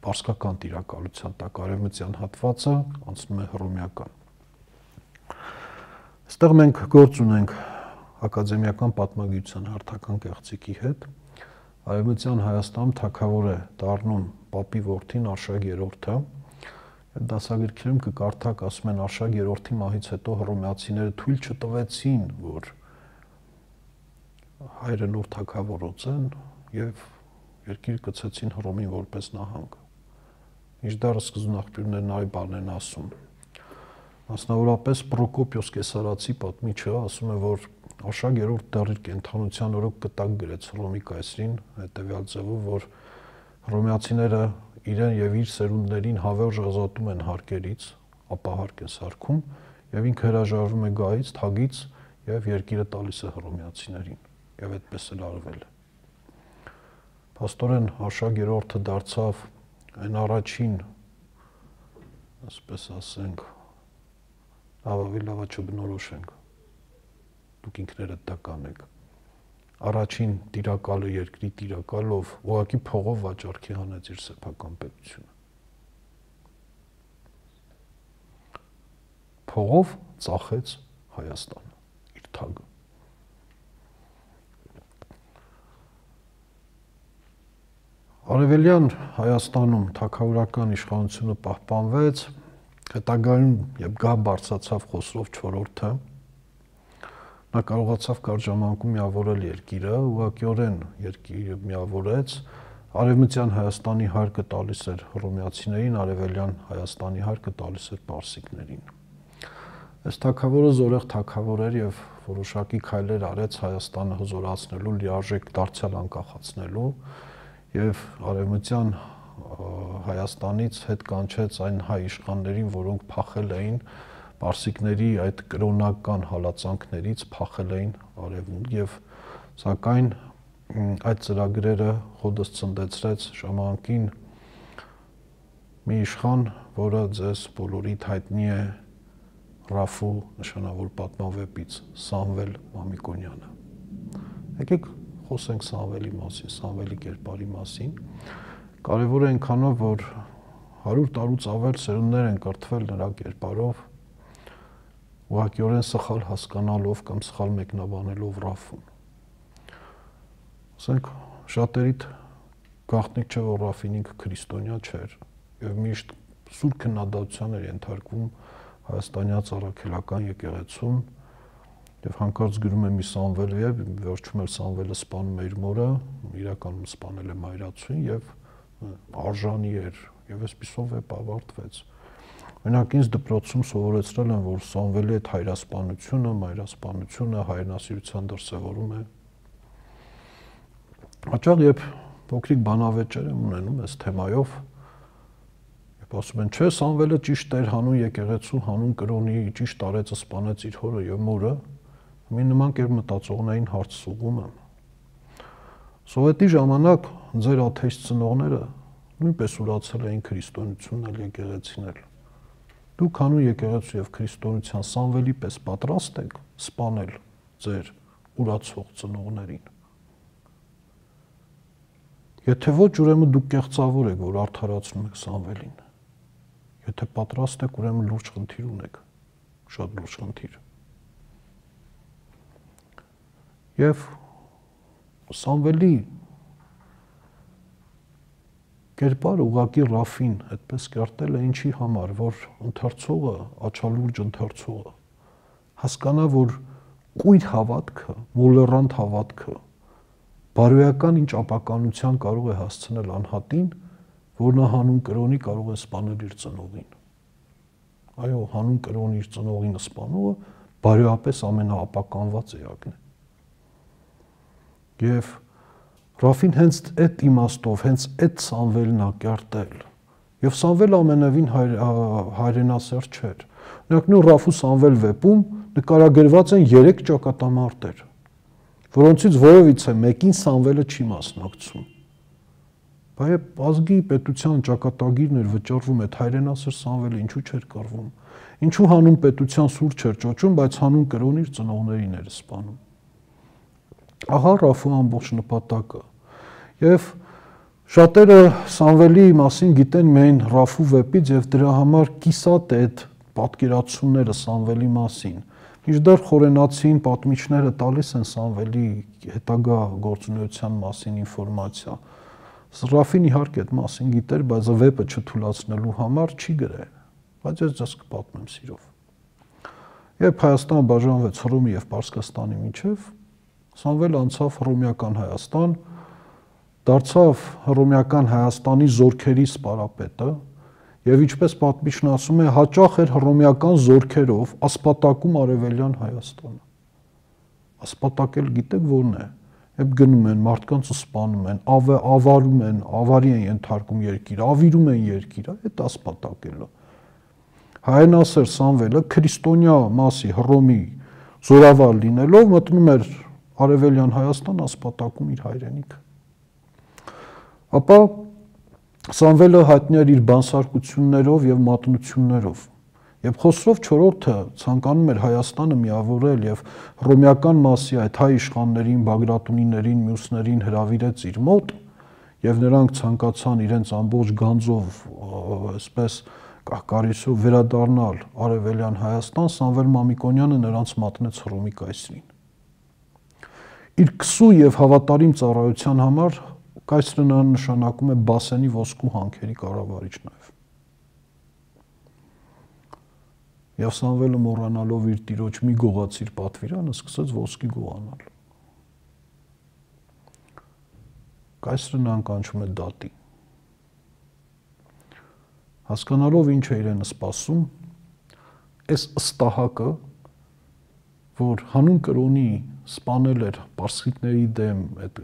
պարսկական տիրակալության տակ, արևմտյան հատվածը անցնում է հռոմեական։ Այստեղ մենք գործ ունենք ակադեմիական պատմագիտության հարթական կեղծիքի հետ։ Արևմտյան Հայաստանում թագավոր է դառնում Պապի որդին Արշակ III-ը։ Այդ դասագրքերում կկարդաք, ասում են Արշակ III-ի մահից հետո հռոմեացիները թույլ չտվեցին, որ հայրը նոր թագավորոց են եւ երկիր գցեցին Հռոմին որպես նահանգ։ Մինչդեռ սկզբնաղբյուրներն այլ բան են ասում։ Մասնավորապես Պրոկոպիոս Կեսարացի պատմիչը ասում է, որ Արշակ III դեռ իր կենդանության օրոք կտակ գրեց Հռոմի կայսրին, հետևյալ ձևով, որ հռոմեացիները իրեն եւ իր սերունդներին հավերժ ազատում են հարկերից, ապա հարկ են սարքում եւ ինքը հրաժարվում է գահից, թագից եւ երկիրը տալիս է հռոմեացիներին եւ այդպես էլ արվել է։ Փաստորեն Արշակ III-ը դարձավ այն առաջին, ասպես ասենք, լավա չբնորոշենք, դուք ինքներդ դա կանեք, առաջին տիրակալը երկրի տիրակալով ուղղակի փողով վաճառքի հանեց իր սեփական պետությունը։ Փողով ծախեց Հայաստանը, իր թագը։ Արևելյան Հայաստանում թագավորական իշխանությունը պահպանվեց, հետագայում երբ գահ բարձրացավ Խոսրով IV-ը, նա կարողացավ կարճ ժամանակում միավորել երկիրը, ուղղակիորեն երկիրը միավորեց, արևմտյան Հայաստանի հարկը տալիս էր հռոմեացիներին, արևելյան Հայաստանի հարկը տալիս էր պարսիկներին։ Այս թագավորը զորեղ թագավոր էր եւ որոշակի քայլեր արեց Հայաստանը հզորացնելու, լիարժեք դարձյալ անկախացնելու եւ արևմտյան Հայաստանից հետ կանչեց այն հայ իշխաններին, որոնք փախել էին պարսիկների այդ կրոնական հալածանքներից, փախել էին արևմուտք եւ սակայն այդ ծրագրերը հոդս ցնդեցրեց ժամանակին մի իշխան, որը ձեզ բոլորիդ հայտնի է Ռաֆու նշանավոր պատմավեպից Սամվել Մամիկոնյանը։ Եկեք խոսենք Սամվելի մասին, Սամվելի կերպարի մասին։ Կարևոր է այնքանով, որ 100 տարուց ավել սերունդներ են կրթվել նրա կերպարով, ուղղակիորեն սխալ հասկանալով կամ սխալ մեկնաբանելով Ռաֆուն։ Ասենք շատերիդ գաղտնիք չէ, որ Ռաֆին ինքը քրիստոնյա չէր եւ միշտ սուր քննադատության էր ենթարկվում հայաստանյաց առաքելական եկեղեցում եւ հանկարծ գրում է մի Սամվել եւ վերջում էլ Սամվելը սպանում է իր մորը, իրականում սպանել է մայրացուն եւ արժանի էր եւ այսպիսով վեպ ավարտվեց։ Օրինակ ինձ դպրոցում սովորեցրել են, որ Սամվելի այդ հայրասպանությունը, մայրասպանությունը հայրենասիրության դրսևորում է։ Հաճախ երբ փոքրիկ բանավեճեր եմ ունենում այս թեմայով, ասում են, չէ, Սամվելը ճիշտ էր հանուն եկեղեցու, հանուն կրոնի, ճիշտ արեց, սպանեց իր հորը եւ մորը, մի նման կերպ մտածողներին հարց ուղղում եմ։ Սովետի ժամանակ ձեր աթեիստ ծնողները նույնպես ուրացել էին քրիստոնեությունն էլ եկեղեցին էլ։ Դուք հանուն եկեղեցու եւ քրիստոնեության Սամվելի պես պատրաստ եք սպանել ձեր ուրացող ծնողներին։ Եթե ոչ, ուրեմն դուք կեղծավոր եք, որ արդարացնում եք Սամվելին։ Եթե պատրաստ եք, ուրեմն լուրջ խնդիր ունեք, շատ լուրջ խնդիր։ Եվ Սամվելի կերպարը ուղղակի Ռաֆին այդպես կերտել է ինչի համար, որ ընթերցողը, աչալուրջ ընթերցողը հասկանա, որ կույր հավատքը, մոլեռանդ հավատքը բարոյական ինչ ապականության կարող է հասցնել անհատին, որ նա հանուն կրոնի կարող է սպանել իր ծնողին։ Այո, հանուն կրոնի իր ծնողին սպանողը բարոյապես ամենաապականված էակն է։ Եվ Ռաֆին հենց այդ իմաստով, հենց այդ Սամվելն է կերտել։ Եվ Սամվելը ամենևին հայրենասեր չէր։ Օրինակ նույն Ռաֆու Սամվել վեպում նկարագրված են 3 ճակատամարտեր, որոնցից որևիցե մեկին Սամվելը չի մասնակցում։ Բայց ազգի պետության ճակատագիրն էր վճռվում այդ հայրենասեր Սամվելը ինչու չէր կռվում։ Ինչու հանուն պետության սուր չէր ճոճում, բայց հանուն կրոնի իր ծնողներին էր սպանում։ Ահա Ռաֆու ամբողջ նպատակը։ Եվ շատերը Սամվելի մասին գիտեն միայն Ռաֆու վեպից եւ դրա համար կիսատ է այդ պատկերացումները Սամվելի մասին։ Մինչդեռ խորենացին պատմիչները տալիս են Սամվելի հետագա գործունեության մասին ինֆորմացիա։ Ռաֆին իհարկե այդ մասին գիտեր, բայց վեպը չթույլատնելու համար չի գրել, բայց ես ձեզ կպատմեմ սիրով։ Երբ Հայաստանը բաժանվեց Հռոմի եւ Պարսկաստանի միջև, Սամվելը անցավ հռոմեական Հայաստան, դարձավ հռոմեական Հայաստանի զորքերի սպարապետը եւ ինչպես պատմիչն ասում է, հաճախ էր հռոմեական զորքերով ասպատակում արևելյան Հայաստանը։ Ասպատակել գիտեք որն է։ Եբ գնում են, մարդկանց սպանում են, ավարում են, ավարի են ենթարկում երկիրը, ավիրում են երկիրը, այդ ասպատակելը։ Հայրենասեր Սամվելը քրիստոնյա մասի Հռոմի զորավար լինելով մտնում էր արևելյան Հայաստան ասպատակում իր հայրենիքը։ Ապա Սամվելը հայտնի էր իր բանսարկություններով եւ մատնություններով։ Եվ Խոսրով IV-ը ցանկանում էր Հայաստանը միավորել եւ հռոմեական մասի այդ հայ իշխաններին, բագրատունիներին, մյուսներին հրավիրեց իր մոտ եւ նրանք ցանկացան իրենց ամբողջ գանձով, այսպես կահկարիչով վերադառնալ արևելյան Հայաստան, Սամվել Մամիկոնյանը նրանց մատնեց Հռոմի կայսրին։ Իր քսու եւ հավատարիմ ծառայության համար կայսրը նրան նշանակում է Բասենի ոսկու հանքերի կառավարիչ նաեւ։ Եվ Սամվելը մոռանալով իր տիրոջ մի գողացիր պատվիրանը սկսեց ոսկի գողանալ։ Կայսրը նրան կանչում է դատի։ Հասկանալով ինչ է իրենը սպասում, այս ըստահակը, որ հանուն կրոնի սպանել էր պարսիկների դեմ, այդ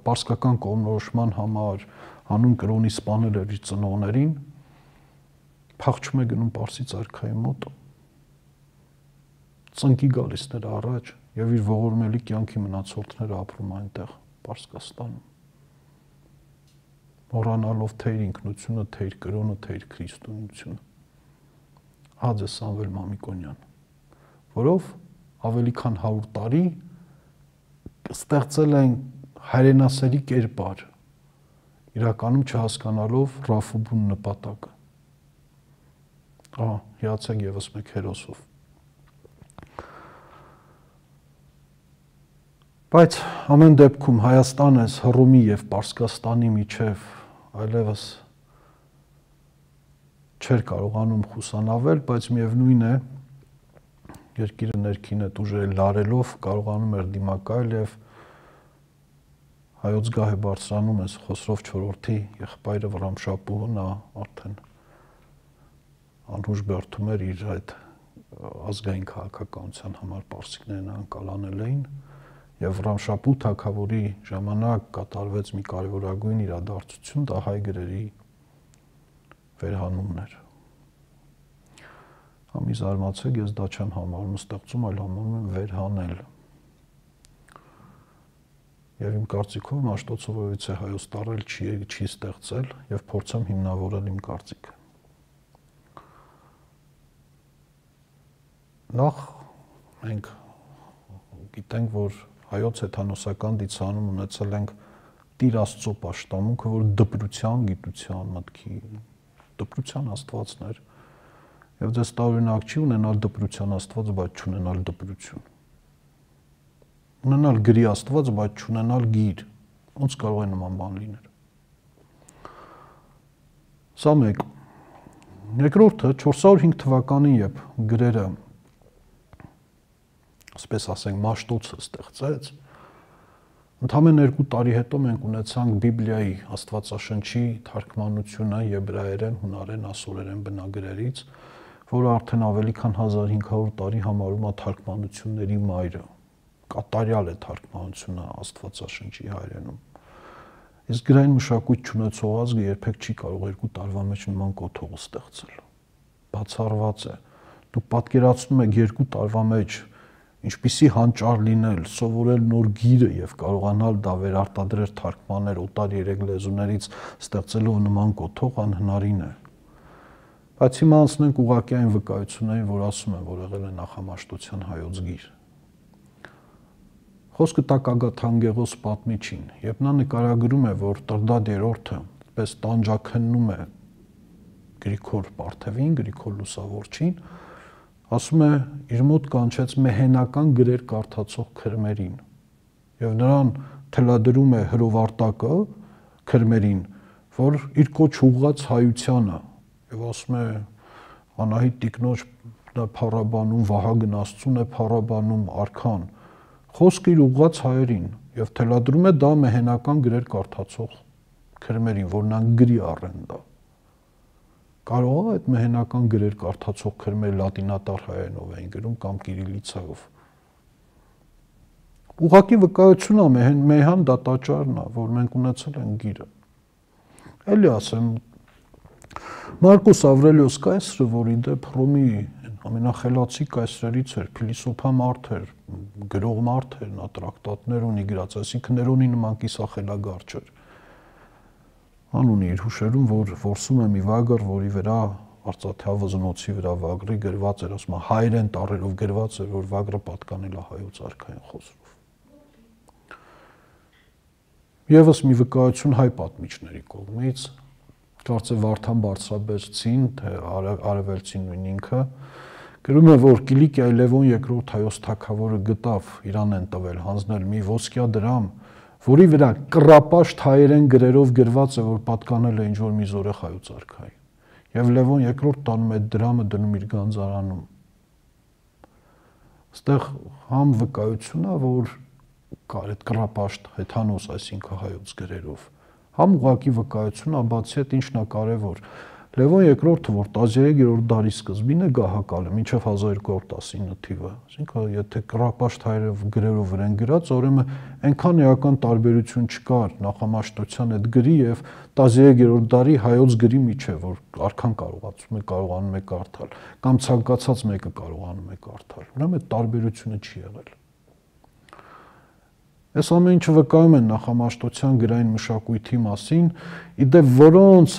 պարսկական կողմնորոշման համար հանուն կրոնի սպանել էր իր ծնողներին, փախչում է գնում Պարսից արքայի մոտ, ծնկի գալիս նրա առաջ եւ իր ողորմելի կյանքի մնացորդները ապրում այնտեղ Պարսկաստանում, մոռանալով թե իր ինքնությունը, թե իր կրոնը, թե իր քրիստոնեությունը։ Ահա Սամվել Մամիկոնյան, որով ավելի քան 100 տարի ստեղծել են հայրենասերի կերպար, իրականում չհասկանալով Ռաֆուբուն նպատակը։ Ահա, հիացեք եւս մեկ հերոսով։ Բայց ամեն դեպքում Հայաստանը Հռոմի եւ Պարսկաստանի միջև այլևս չէր կարողանում խուսանավել, բայց միևնույն է, երկիրը ներքին այդ ուժերը լարելով կարողանում էր դիմակայել եւ հայոց գահ է բարձրանում է Խոսրով IV-ի եղբայրը Վռամշապուհը, նա արդեն անհուժ բերդում էր իր այդ ազգային քաղաքականության համար պարսիկներն անկալանել էին եւ Վռամշապուհ թագավորի ժամանակ կատարվեց մի կարևորագույն իրադարձություն, դա հայ գրերի վերհանումն էր։ Համի զարմացեք, ես դա չեմ համարում ստեղծում, այլ համարում եմ վերհանել։ Եվ իմ կարծիքով Մաշտոցովից է հայոց տարել չի ստեղծել եւ փորձեմ հիմնավորել իմ կարծիքը։ Նախ մենք գիտենք, որ հայոց հեթանոսական դիցանում ունեցել ենք Տիր Աստծո պաշտամունքը, որ դպրության, գիտության, մտքի, դպրության Աստվածն էր, եւ դες տարօրինակ չի ունենալ դպրության Աստված, բայց չունենալ դպրություն։ Ունենալ գրի Աստված, բայց չունենալ գիր, ոնց կարող է նման բան լինել։ Սա մեկ։ Երկրորդը 405 թվականին, երբ գրերը, ասպես ասենք, Մաշտոցը ստեղծեց, ընդամենը 2 տարի հետո մենք ունեցանք Բիբլիայի Աստվածաշնչի թարգմանությունը եբրայերեն, հունարեն, ասորերեն բնագրերից, որը արդեն ավելի քան 1500 տարի համարում է թարգմանությունների մայրը։ Կատարյալ է թարգմանությունը Աստվածաշնչի հայերենում։ Իսկ գրային մշակույթ չունեցող ազգը երբեք չի կարող 2 տարվա մեջ նման կոթող ստեղծել։ Բացառված է։ Դուք պատկերացնում եք 2 տարվա մեջ ինչպիսի հանճար լինել, սովորել նոր գիրը եւ կարողանալ դա վերարտադրել, թարգմանել օտար 3 լեզուներից ստեղծելով նման կոթող անհնարին է։ Բայց հիմա անցնենք ուղղակի այն վկայություններին, որ ասում են, որ եղել է նախամաշտության հայոց գիր։ Խոսքը Տակ-Ագաթ պատմիչին, երբ նա նկարագրում է, որ Տրդատ III-ը պես տանջաքննում է Գրիգոր Պարթևին, Գրիգոր Լուսավորչին, ասում է, իր մոտ կանչեց մեհենական գրեր կարդացող քրմերին եւ նրան թելադրում է հրովարտակը քրմերին, որ իր կոչ ուղղած հայությանը եւ ասում է Անահիտ տիկնոջ փառաբանում Վահագն Աստծուն է փառաբանում արքան, խոսքը իր ուղղած հայերին եւ թելադրում է դա մեհենական գրեր կարդացող քրմերին, որ նրան գրի առեն դա։ Կարող է այդ մեհենական գրեր կարդացող քրմերը լատինատար հայերենով էին գրում կամ կիրիլիցայով։ Ուղղակի վկայություն է, մեհան դատաճարն է, որ մենք ունեցել ենք գիրը։ Էլի ասեմ, Մարկոս Ավրելիոս կայսրը, որ ի դեպ Հռոմի ամենախելացի կայսրերից էր, փիլիսոփա մարդ էր, գրող մարդ էր, նա տրակտատներ ունի գրած, այսինքն Ներոնի նման կիսախելագար չէր։ Անունի իր հուշերում, որ որսում է մի վագր, որի վրա արծաթե վզնոցի վրա վագրի գրված էր, ասում է հայերեն տառերով գրված էր, որ վագրը պատկանել է հայոց արքային Խոսրով։ Եվս մի վկայություն հայ պատմիչների կողմից, կարծե Վարդան Բարձրաբերդցին, թե Արևելցին նույն ինքը, գրում է, որ Կիլիկիայի Լևոն II հայոց թագավորը գտավ Իրան են տվել հանձնել մի ոսկյա դրամ, որի վրա կռապաշտ հայերեն գրերով գրված է, որ պատկանել է ինչ-որ մի զորեղ հայոց արքային։ Եվ Լևոն II տանում է դրամը դնում իր գանձարանում։ Այստեղ համ վկայություն է, որ կար այդ կռապաշտ հեթանոս, այսինքն հայոց գրերով, համ ուղղակի վկայություն է, բացի այդ ինչն է կարևոր։ Լևոն II-ը, որ 13-րդ դարի սկզբին է գահակալը, մինչև 1219 թիվը, այսինքն եթե կռապաշտ հայերով գրերով են գրած, ուրեմն այնքան էական տարբերություն չկար նախամաշտության այդ գրի եւ 13-րդ դարի հայոց գրի միջև, որ արքան կարողանում է կարդալ, կամ ցանկացած մեկը կարողանում է կարդալ։ Ուրեմն այդ տարբերությունը չի եղել։ Այս ամեն ինչը վկայում են նախամաշտության գրային մշակույթի մասին, իդեպ որոնց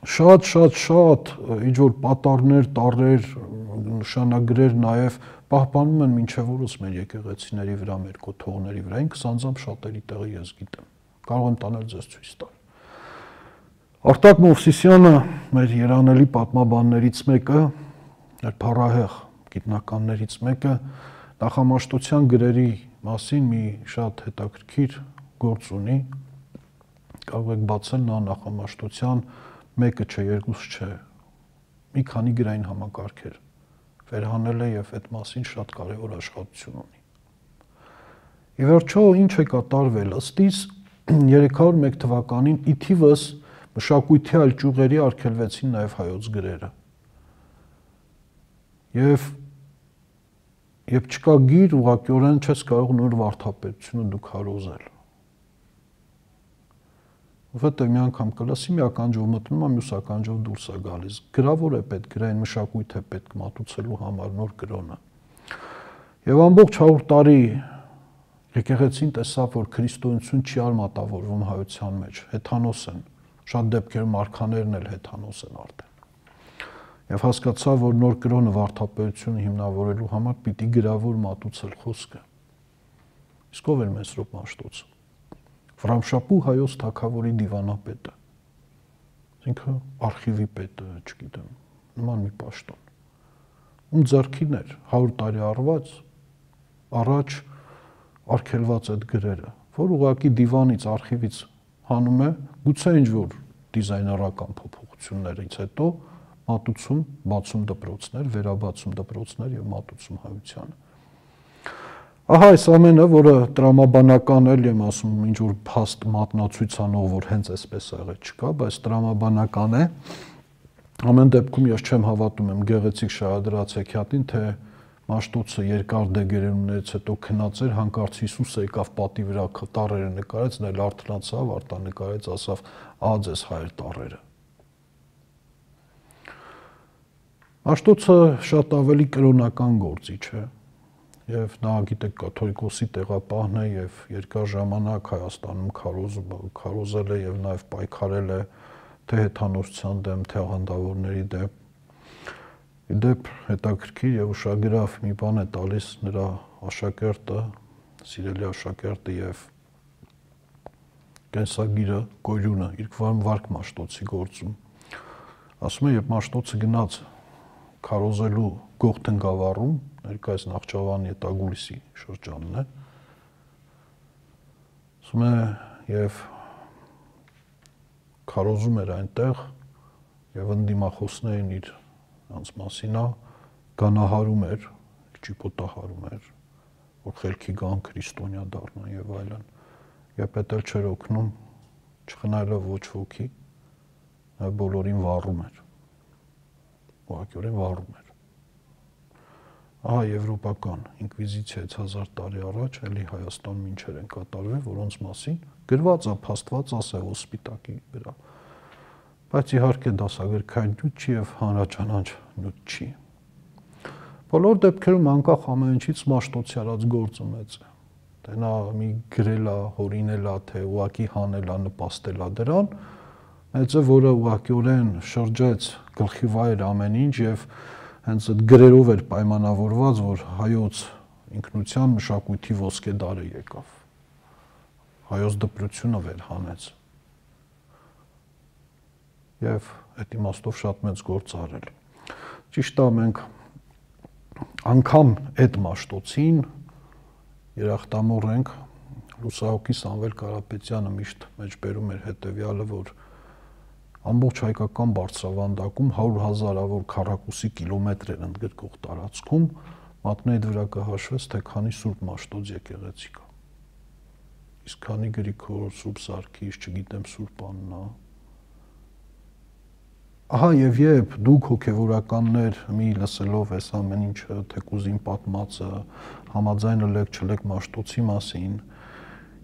շատ ինչ որ պատառներ, տառեր, նշանագրեր նաև պահպանում են մինչև օրս մեր եկեղեցիների վրա, մեր կոթողների վրա, ինքս անձամբ շատերի տեղը ես գիտեմ, կարող եմ տանել ձեզ ցույց տալ։ Արտակ Մովսիսյանը, մեր երանելի պատմաբաններից մեկը, մեր փառահեղ գիտնականներից մեկը, նախամաշտության գրերի մասին մի շատ հետաքրքիր գործ ունի, կարող եք բացել նա նախամաշտության մեկը չէ, երկուսը չէ, մի քանի գրային համակարգեր վերհանել է եւ այդ մասին շատ կարեւոր աշխատություն ունի։ Ի վերջո ինչ է կատարվել, ըստիս 301 թվականին ի թիվս մշակույթի այլ ճյուղերի արգելվեցին նաեւ հայոց գրերը։ Եվ չկա գիր, ուղղակիորեն չես կարող նոր վարդապետությունը դուք հարոզել։ Որտեղ մի անգամ կլասի մի ականջով մտնում է, մյուս ականջով դուրս է գալիս։ Գրավոր է պետք, գրային մշակույթ է պետք մատուցելու համար նոր կրոնը։ Եվ ամբողջ 100 տարի եկեղեցին տեսավ, որ քրիստոնեություն չի արմատավորվում հայության մեջ, հեթանոս են, շատ դեպքերում արքաներն էլ հեթանոս են արդեն։ Եվ հասկացավ, որ նոր կրոնը վարդապետությունը հիմնավորելու համար պիտի գրավոր մատուցել խոսքը։ Իսկ ով էր Մեսրոպ Մաշտոցը։ Վրամշապուհ հայոց թագավորի դիվանապետը, այսինքն արխիվի պետը, չգիտեմ, նման մի պաշտոն, ում ձեռքին էր 100 տարի առաջ արգելված այդ գրերը, որ ուղղակի դիվանից, արխիվից հանում է, գուցե ինչ-որ դիզայներական փոփոխություններից հետո մատուցում, բացում դպրոցներ, վերաբացում դպրոցներ եւ մատուցում հայությանը։ Ահա այս ամենը, որը տրամաբանական էլ եմ ասում, ինչ որ փաստ մատնացույցանող, որ հենց այսպես եղել չկա, բայց տրամաբանական է։ Ամեն դեպքում ես չեմ հավատում եմ գեղեցիկ շահադրած հեքիաթին, թե Մաշտոցը երկար դեգերումներից հետո քնած էր, հանկարծ Հիսուսը եկավ պատի վրա տառերը նկարեց, նա էլ արթնացավ, արտանկարեց, ասավ՝ «Ահա ձեզ հայր տառերը»։ Մաշտոցը շատ ավելի կրոնական գործիչ է։ Եվ նա գիտեք կաթոլիկոսի տեղապահն է եւ երկար ժամանակ Հայաստանում քարոզել է եւ նաեւ պայքարել է թե հեթանոսության դեմ, թե աղանդավորների դեմ։ Իդեպ հետաքրքիր եւ ուշագրավ մի բան է տալիս նրա աշակերտը, սիրելի աշակերտը եւ կենսագիրը Կորյունը, իր վարք Մաշտոցի գործում։ Ասում է, երբ Մաշտոցը գնաց քարոզելու Գողթնգավառում, ներկայիս ՆախճավանիԵտագուլիսի շրջանն է, ասում է, եւ քարոզում էր այնտեղ եւ ընդդիմախոսներին իր անց մասինա գանահարում էր, ճիպոտահարում էր, որ խելքի գան քրիստոնյա դառնան եւ այլն։ Եվ պետք էլ չէր օգնում, չխնայելով ոչ ոքի, նա բոլորին վառում էր։ Ուղղակիորեն վառում էր։ Ահա եվրոպական ինկվիզիցիայից 1000 տարի առաջ էլի Հայաստանում ինչեր են կատարվել, որոնց մասին գրված է, փաստված է ոսպիտակի վրա։ Բայց իհարկե դասագրքային նյութ չի եւ հանրաճանաչ նյութ չի։ Բոլոր դեպքերում անկախ ամեն ինչից Մաշտոցի արած գործը մեծ է։ Թե նա մի գրել է, հորինել է, թե ուղակի հանել է, նպաստել է դրան, մեծ է, որը ուղղակիորեն շրջեց գլխի վայր ամեն ինչ եւ հենց այդ գրերով էր պայմանավորված, որ հայոց ինքնության մշակույթի ոսկե դարը եկավ։ Հայոց դպրությունը վերհանեց։ Եվ այդ իմաստով շատ մեծ գործ արել։ Ճիշտ է, մենք անգամ այդ Մաշտոցին երախտամոռ ենք, լուսահոգի Սամվել Կարապետյանը միշտ մեջբերում էր հետևյալը, որ ամբողջ հայկական բարձրավանդակում 100,000-ավոր քառակուսի կիլոմետր ընդգրկող տարածքում մատնեիդ վրա կհաշվես, թե քանի Սուրբ Մաշտոց եկեղեցի կա։ Իսկ քանի Գրիգոր, Սուրբ Սարգիս, չգիտեմ, Սուրբ Աննա, ահա եւ երբ դուք հոգեվորականներ մի լսելով այս ամեն ինչը, թեկուզ իմ պատմածը, համաձայնը լեք չլեք Մաշտոցի մասին,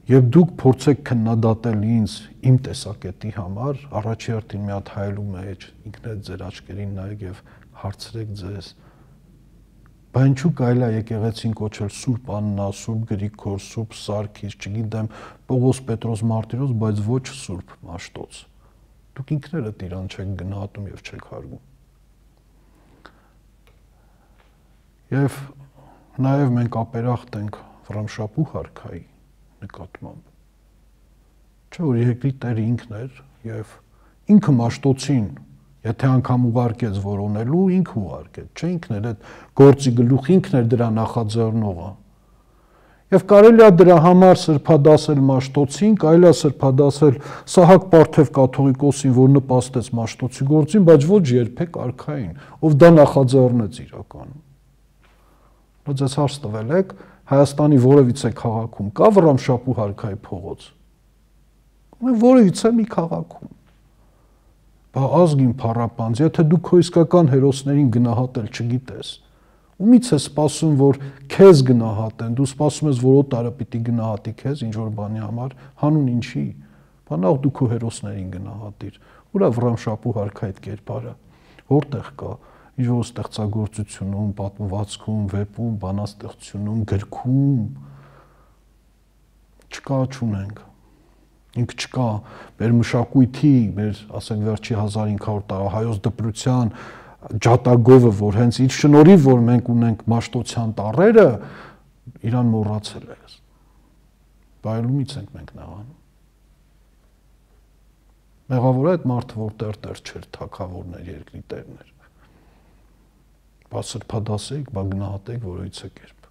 եւ դուք փորձեք քննադատել ինձ իմ տեսակետի համար, առաջի հերթին մի հատ հայելու մեջ ինքներդ ձեր աչքերին նայեք եւ հարցրեք ձեզ. բա ինչու կարելի է եկեղեցին կոչել Սուրբ Աննա, Սուրբ Գրիգոր, Սուրբ Սարգիս, չգիտեմ, Պողոս, Պետրոս, Մարտիրոս, բայց ոչ Սուրբ Մաշտոց։ Դուք ինքներդ իրան չեք գնահատում եւ չեք հարգում։ Եվ նաեւ մենք ապերախտ ենք Վռամշապուհ արքայի նկատմամբ։ Չէ՞ որ երկրի տերը ինքն էր եւ ինքը Մաշտոցին, եթե անգամ ուղարկեց որոնելու, ինքը ուղարկեց, չէ՞ ինքն էր այդ գործի գլուխ, ինքն էր դրա նախաձեռնողը։ Եվ կարելի է դրա համար սրբադասել Մաշտոցին, կարելի է սրբադասել Սահակ Պարթև կաթողիկոսին, որ նպաստեց Մաշտոցի գործին, բայց ոչ երբեք արքային, ով դա նախաձեռնեց իրականում։ Ձեզ հարց տվել եք, Հայաստանի որևիցե քաղաքում կա Վռամշապուհ արքայի փողոց։ Որևիցե մի քաղաքում։ Բա ազգին փառապանձ, եթե դու քո իսկական հերոսներին գնահատել չգիտես, ումից է սպասում, որ քեզ գնահատեն, դու սպասում ես, որ օտարը պիտի գնահատի քեզ ինչ որ բանի համար, հանուն ինչի։ Բա նախ դու քո հերոսներին գնահատիր։ Ուր է Վռամշապուհ արքայի այդ կերպարը։ Որտեղ կա։ Ինչ-որ ստեղծագործությունում, պատմվածքում, վեպում, բանաստեղծությունում, գրքում չկա, չունենք։ Ինք չկա, մեր մշակույթի, մեր, ասենք, վերջի 1500 տարի հայոց դպրության ջատագովը, որ հենց իր շնորհիվ, որ մենք ունենք Մաշտոցյան տառերը, իրան մոռացել է։ Բայելումից ենք մենք նեղանում։ Մեղավոր է այդ մարդը, որ տեր չէր, թագավորներ, երկրի տերներ։ Բա սրբադասեք, բա գնահատեք որևիցե կերպ։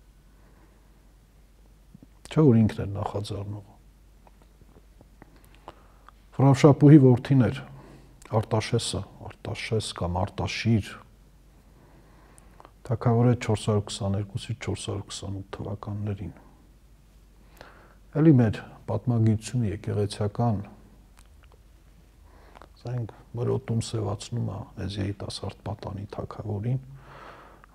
Չէ՞ որ ինքն էր նախաձեռնողը։ Վռամշապուհի որդին էր Արտաշեսը, Արտաշես կամ Արտաշիր, թագավորը 422-ից 428 թվականներին։ Էլի մեր պատմագիտությունը եկեղեցիական, ասենք, մրոտում սևացնում է այս երիտասարդ պատանի թագավորին,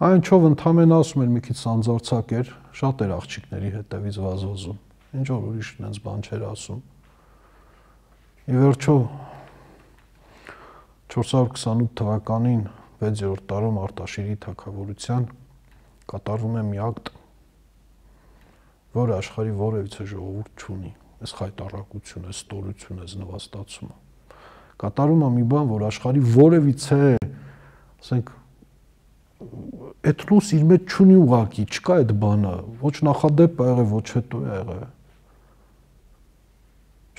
այնչով ընդամենը ասում էր մի քիչ սանձարձակ էր, շատ էր աղջիկների հետևից վազվազում, ինչ որ ուրիշ այնց բան չէր ասում։ Ի վերջո 428 թվականին 6-րդ տարում Արտաշիրի թագավորության կատարվում է մի ակտ, որը աշխարհի որևիցե ժողովուրդ չունի, այս խայտառակությունը, այս ստորությունը, այս նվաստացումը։ Կատարում է մի բան, որ աշխարհի որևիցե, ասենք, էթնոս իր մեջ չունի ուղակի, չկա այդ բանը, ոչ նախադեպ է եղել, ոչ հետո է եղել։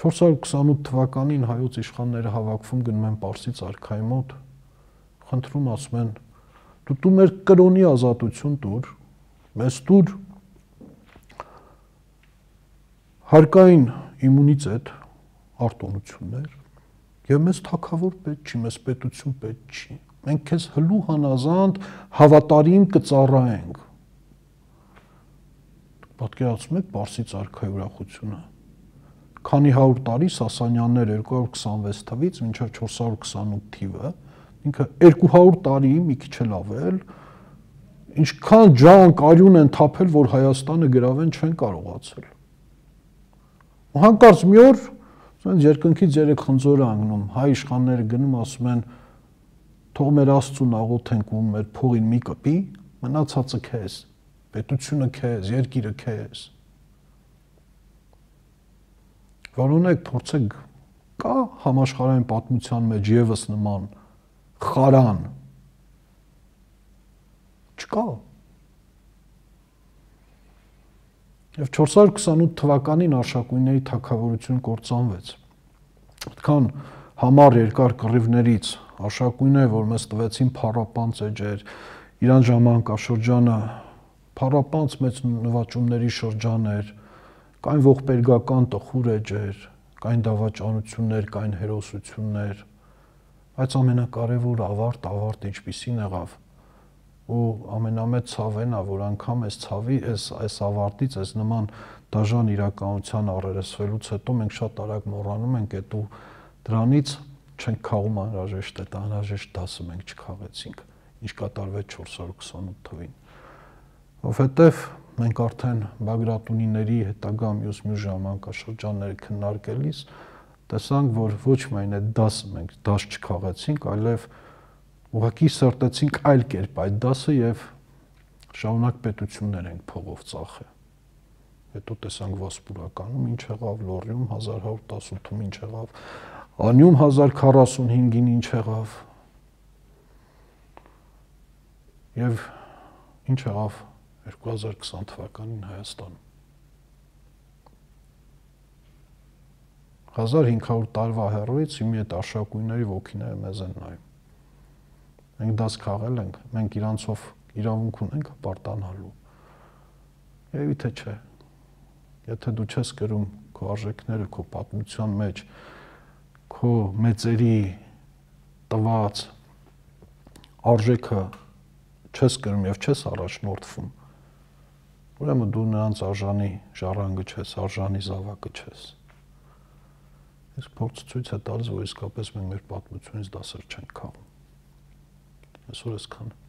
428 թվականին հայոց իշխանները հավաքվում գնում են Պարսից արքայի մոտ, խնդրում ասում են, դու մեր կրոնի ազատություն տուր, մեզ տուր հարկային իմունիտետ, արտոնություններ, եւ մեզ թագավոր պետք չի, մեզ պետություն պետք չի։ Մենք քեզ հլու հանազանդ հավատարիմ կծառայենք։ Պատկերացնում եք Պարսից արքայի ուրախությունը։ Քանի 100 տարի Սասանյաններ 226 թվից մինչև 428 թիվը, ինքը 200 տարի մի քիչ էլ ավել, ինչքան ջանք արյուն են թափել, որ Հայաստանը գրավեն չեն կարողացել։ Ու հանկարծ մի օր ասենց երկնքից երեք խնձոր անգնում, հայ իշխանները գնում ասում են թող մեր Աստծուն աղոթենք ու մեր փողին մի կպի, մնացածը քեզ, պետությունը քեզ, երկիրը քեզ։ Որոնեք փորձեք, կա համաշխարհային պատմության մեջ եւս նման խարան։ Չկա։ Եվ 428 թվականին Արշակույնների թագավորություն կործանվեց։ Այդքան համառ երկար կռիվներից Արշակույնները, որ մեզ տվեցին փառապանծ էջեր, իրան ժամանակաշրջանը փառապանծ մեծ նվաճումների շրջան էր, կային ողբերգական տխուր էջեր, կային դավաճանություններ, կային հերոսություններ, բայց ամենակարևորը ավարտ ինչպիսին եղավ, ու ամենամեծ ցավն է, որ անգամ այս ցավի, այս ավարտից, այս նման դաժան իրականության առերեսվելուց հետո մենք շատ արագ մոռանում ենք այդ ու դրանից չենք քաղում անհրաժեշտ է, անհրաժեշտ դասը մենք չքաղեցինք, ինչ կատարվեց 428 թվին։ Որովհետև մենք արդեն Բագրատունիների հետագա մյուս ժամանակաշրջանները քննարկելիս տեսանք, որ ոչ միայն այդ դասը մենք դաս չքաղեցինք, այլև ուղղակի սրտեցինք այլ կերպ այդ դասը եւ շարունակ պետություններ ենք փողով ծախել։ Հետո տեսանք Վասպուրականում ինչ եղավ, Լոռիում 1118-ում ինչ եղավ, Անյում 1045-ին ինչ եղավ, եւ ինչ եղավ 2020 թվականին Հայաստանում։ 1500 տարվա հեռուից իմի այդ աշակույների ոգիները մեզ են նայում։ Մենք դաս քաղել ենք, մենք իրանցով իրավունք ունենք պարտանալու։ Երևի թե չէ։ Եթե դու չես գրում քո արժեքները քո պատմության մեջ, քո մեծերի տված արժեքը չես գրում եւ չես առաջնորդվում, ուրեմն դու նրանց արժանի ժառանգը չես, արժանի զավակը չես։ Իսկ փորձը ցույց է տալիս, որ իսկապես մենք մեր պատմությունից դասեր չենք քաղում։ Այսօր այսքանը։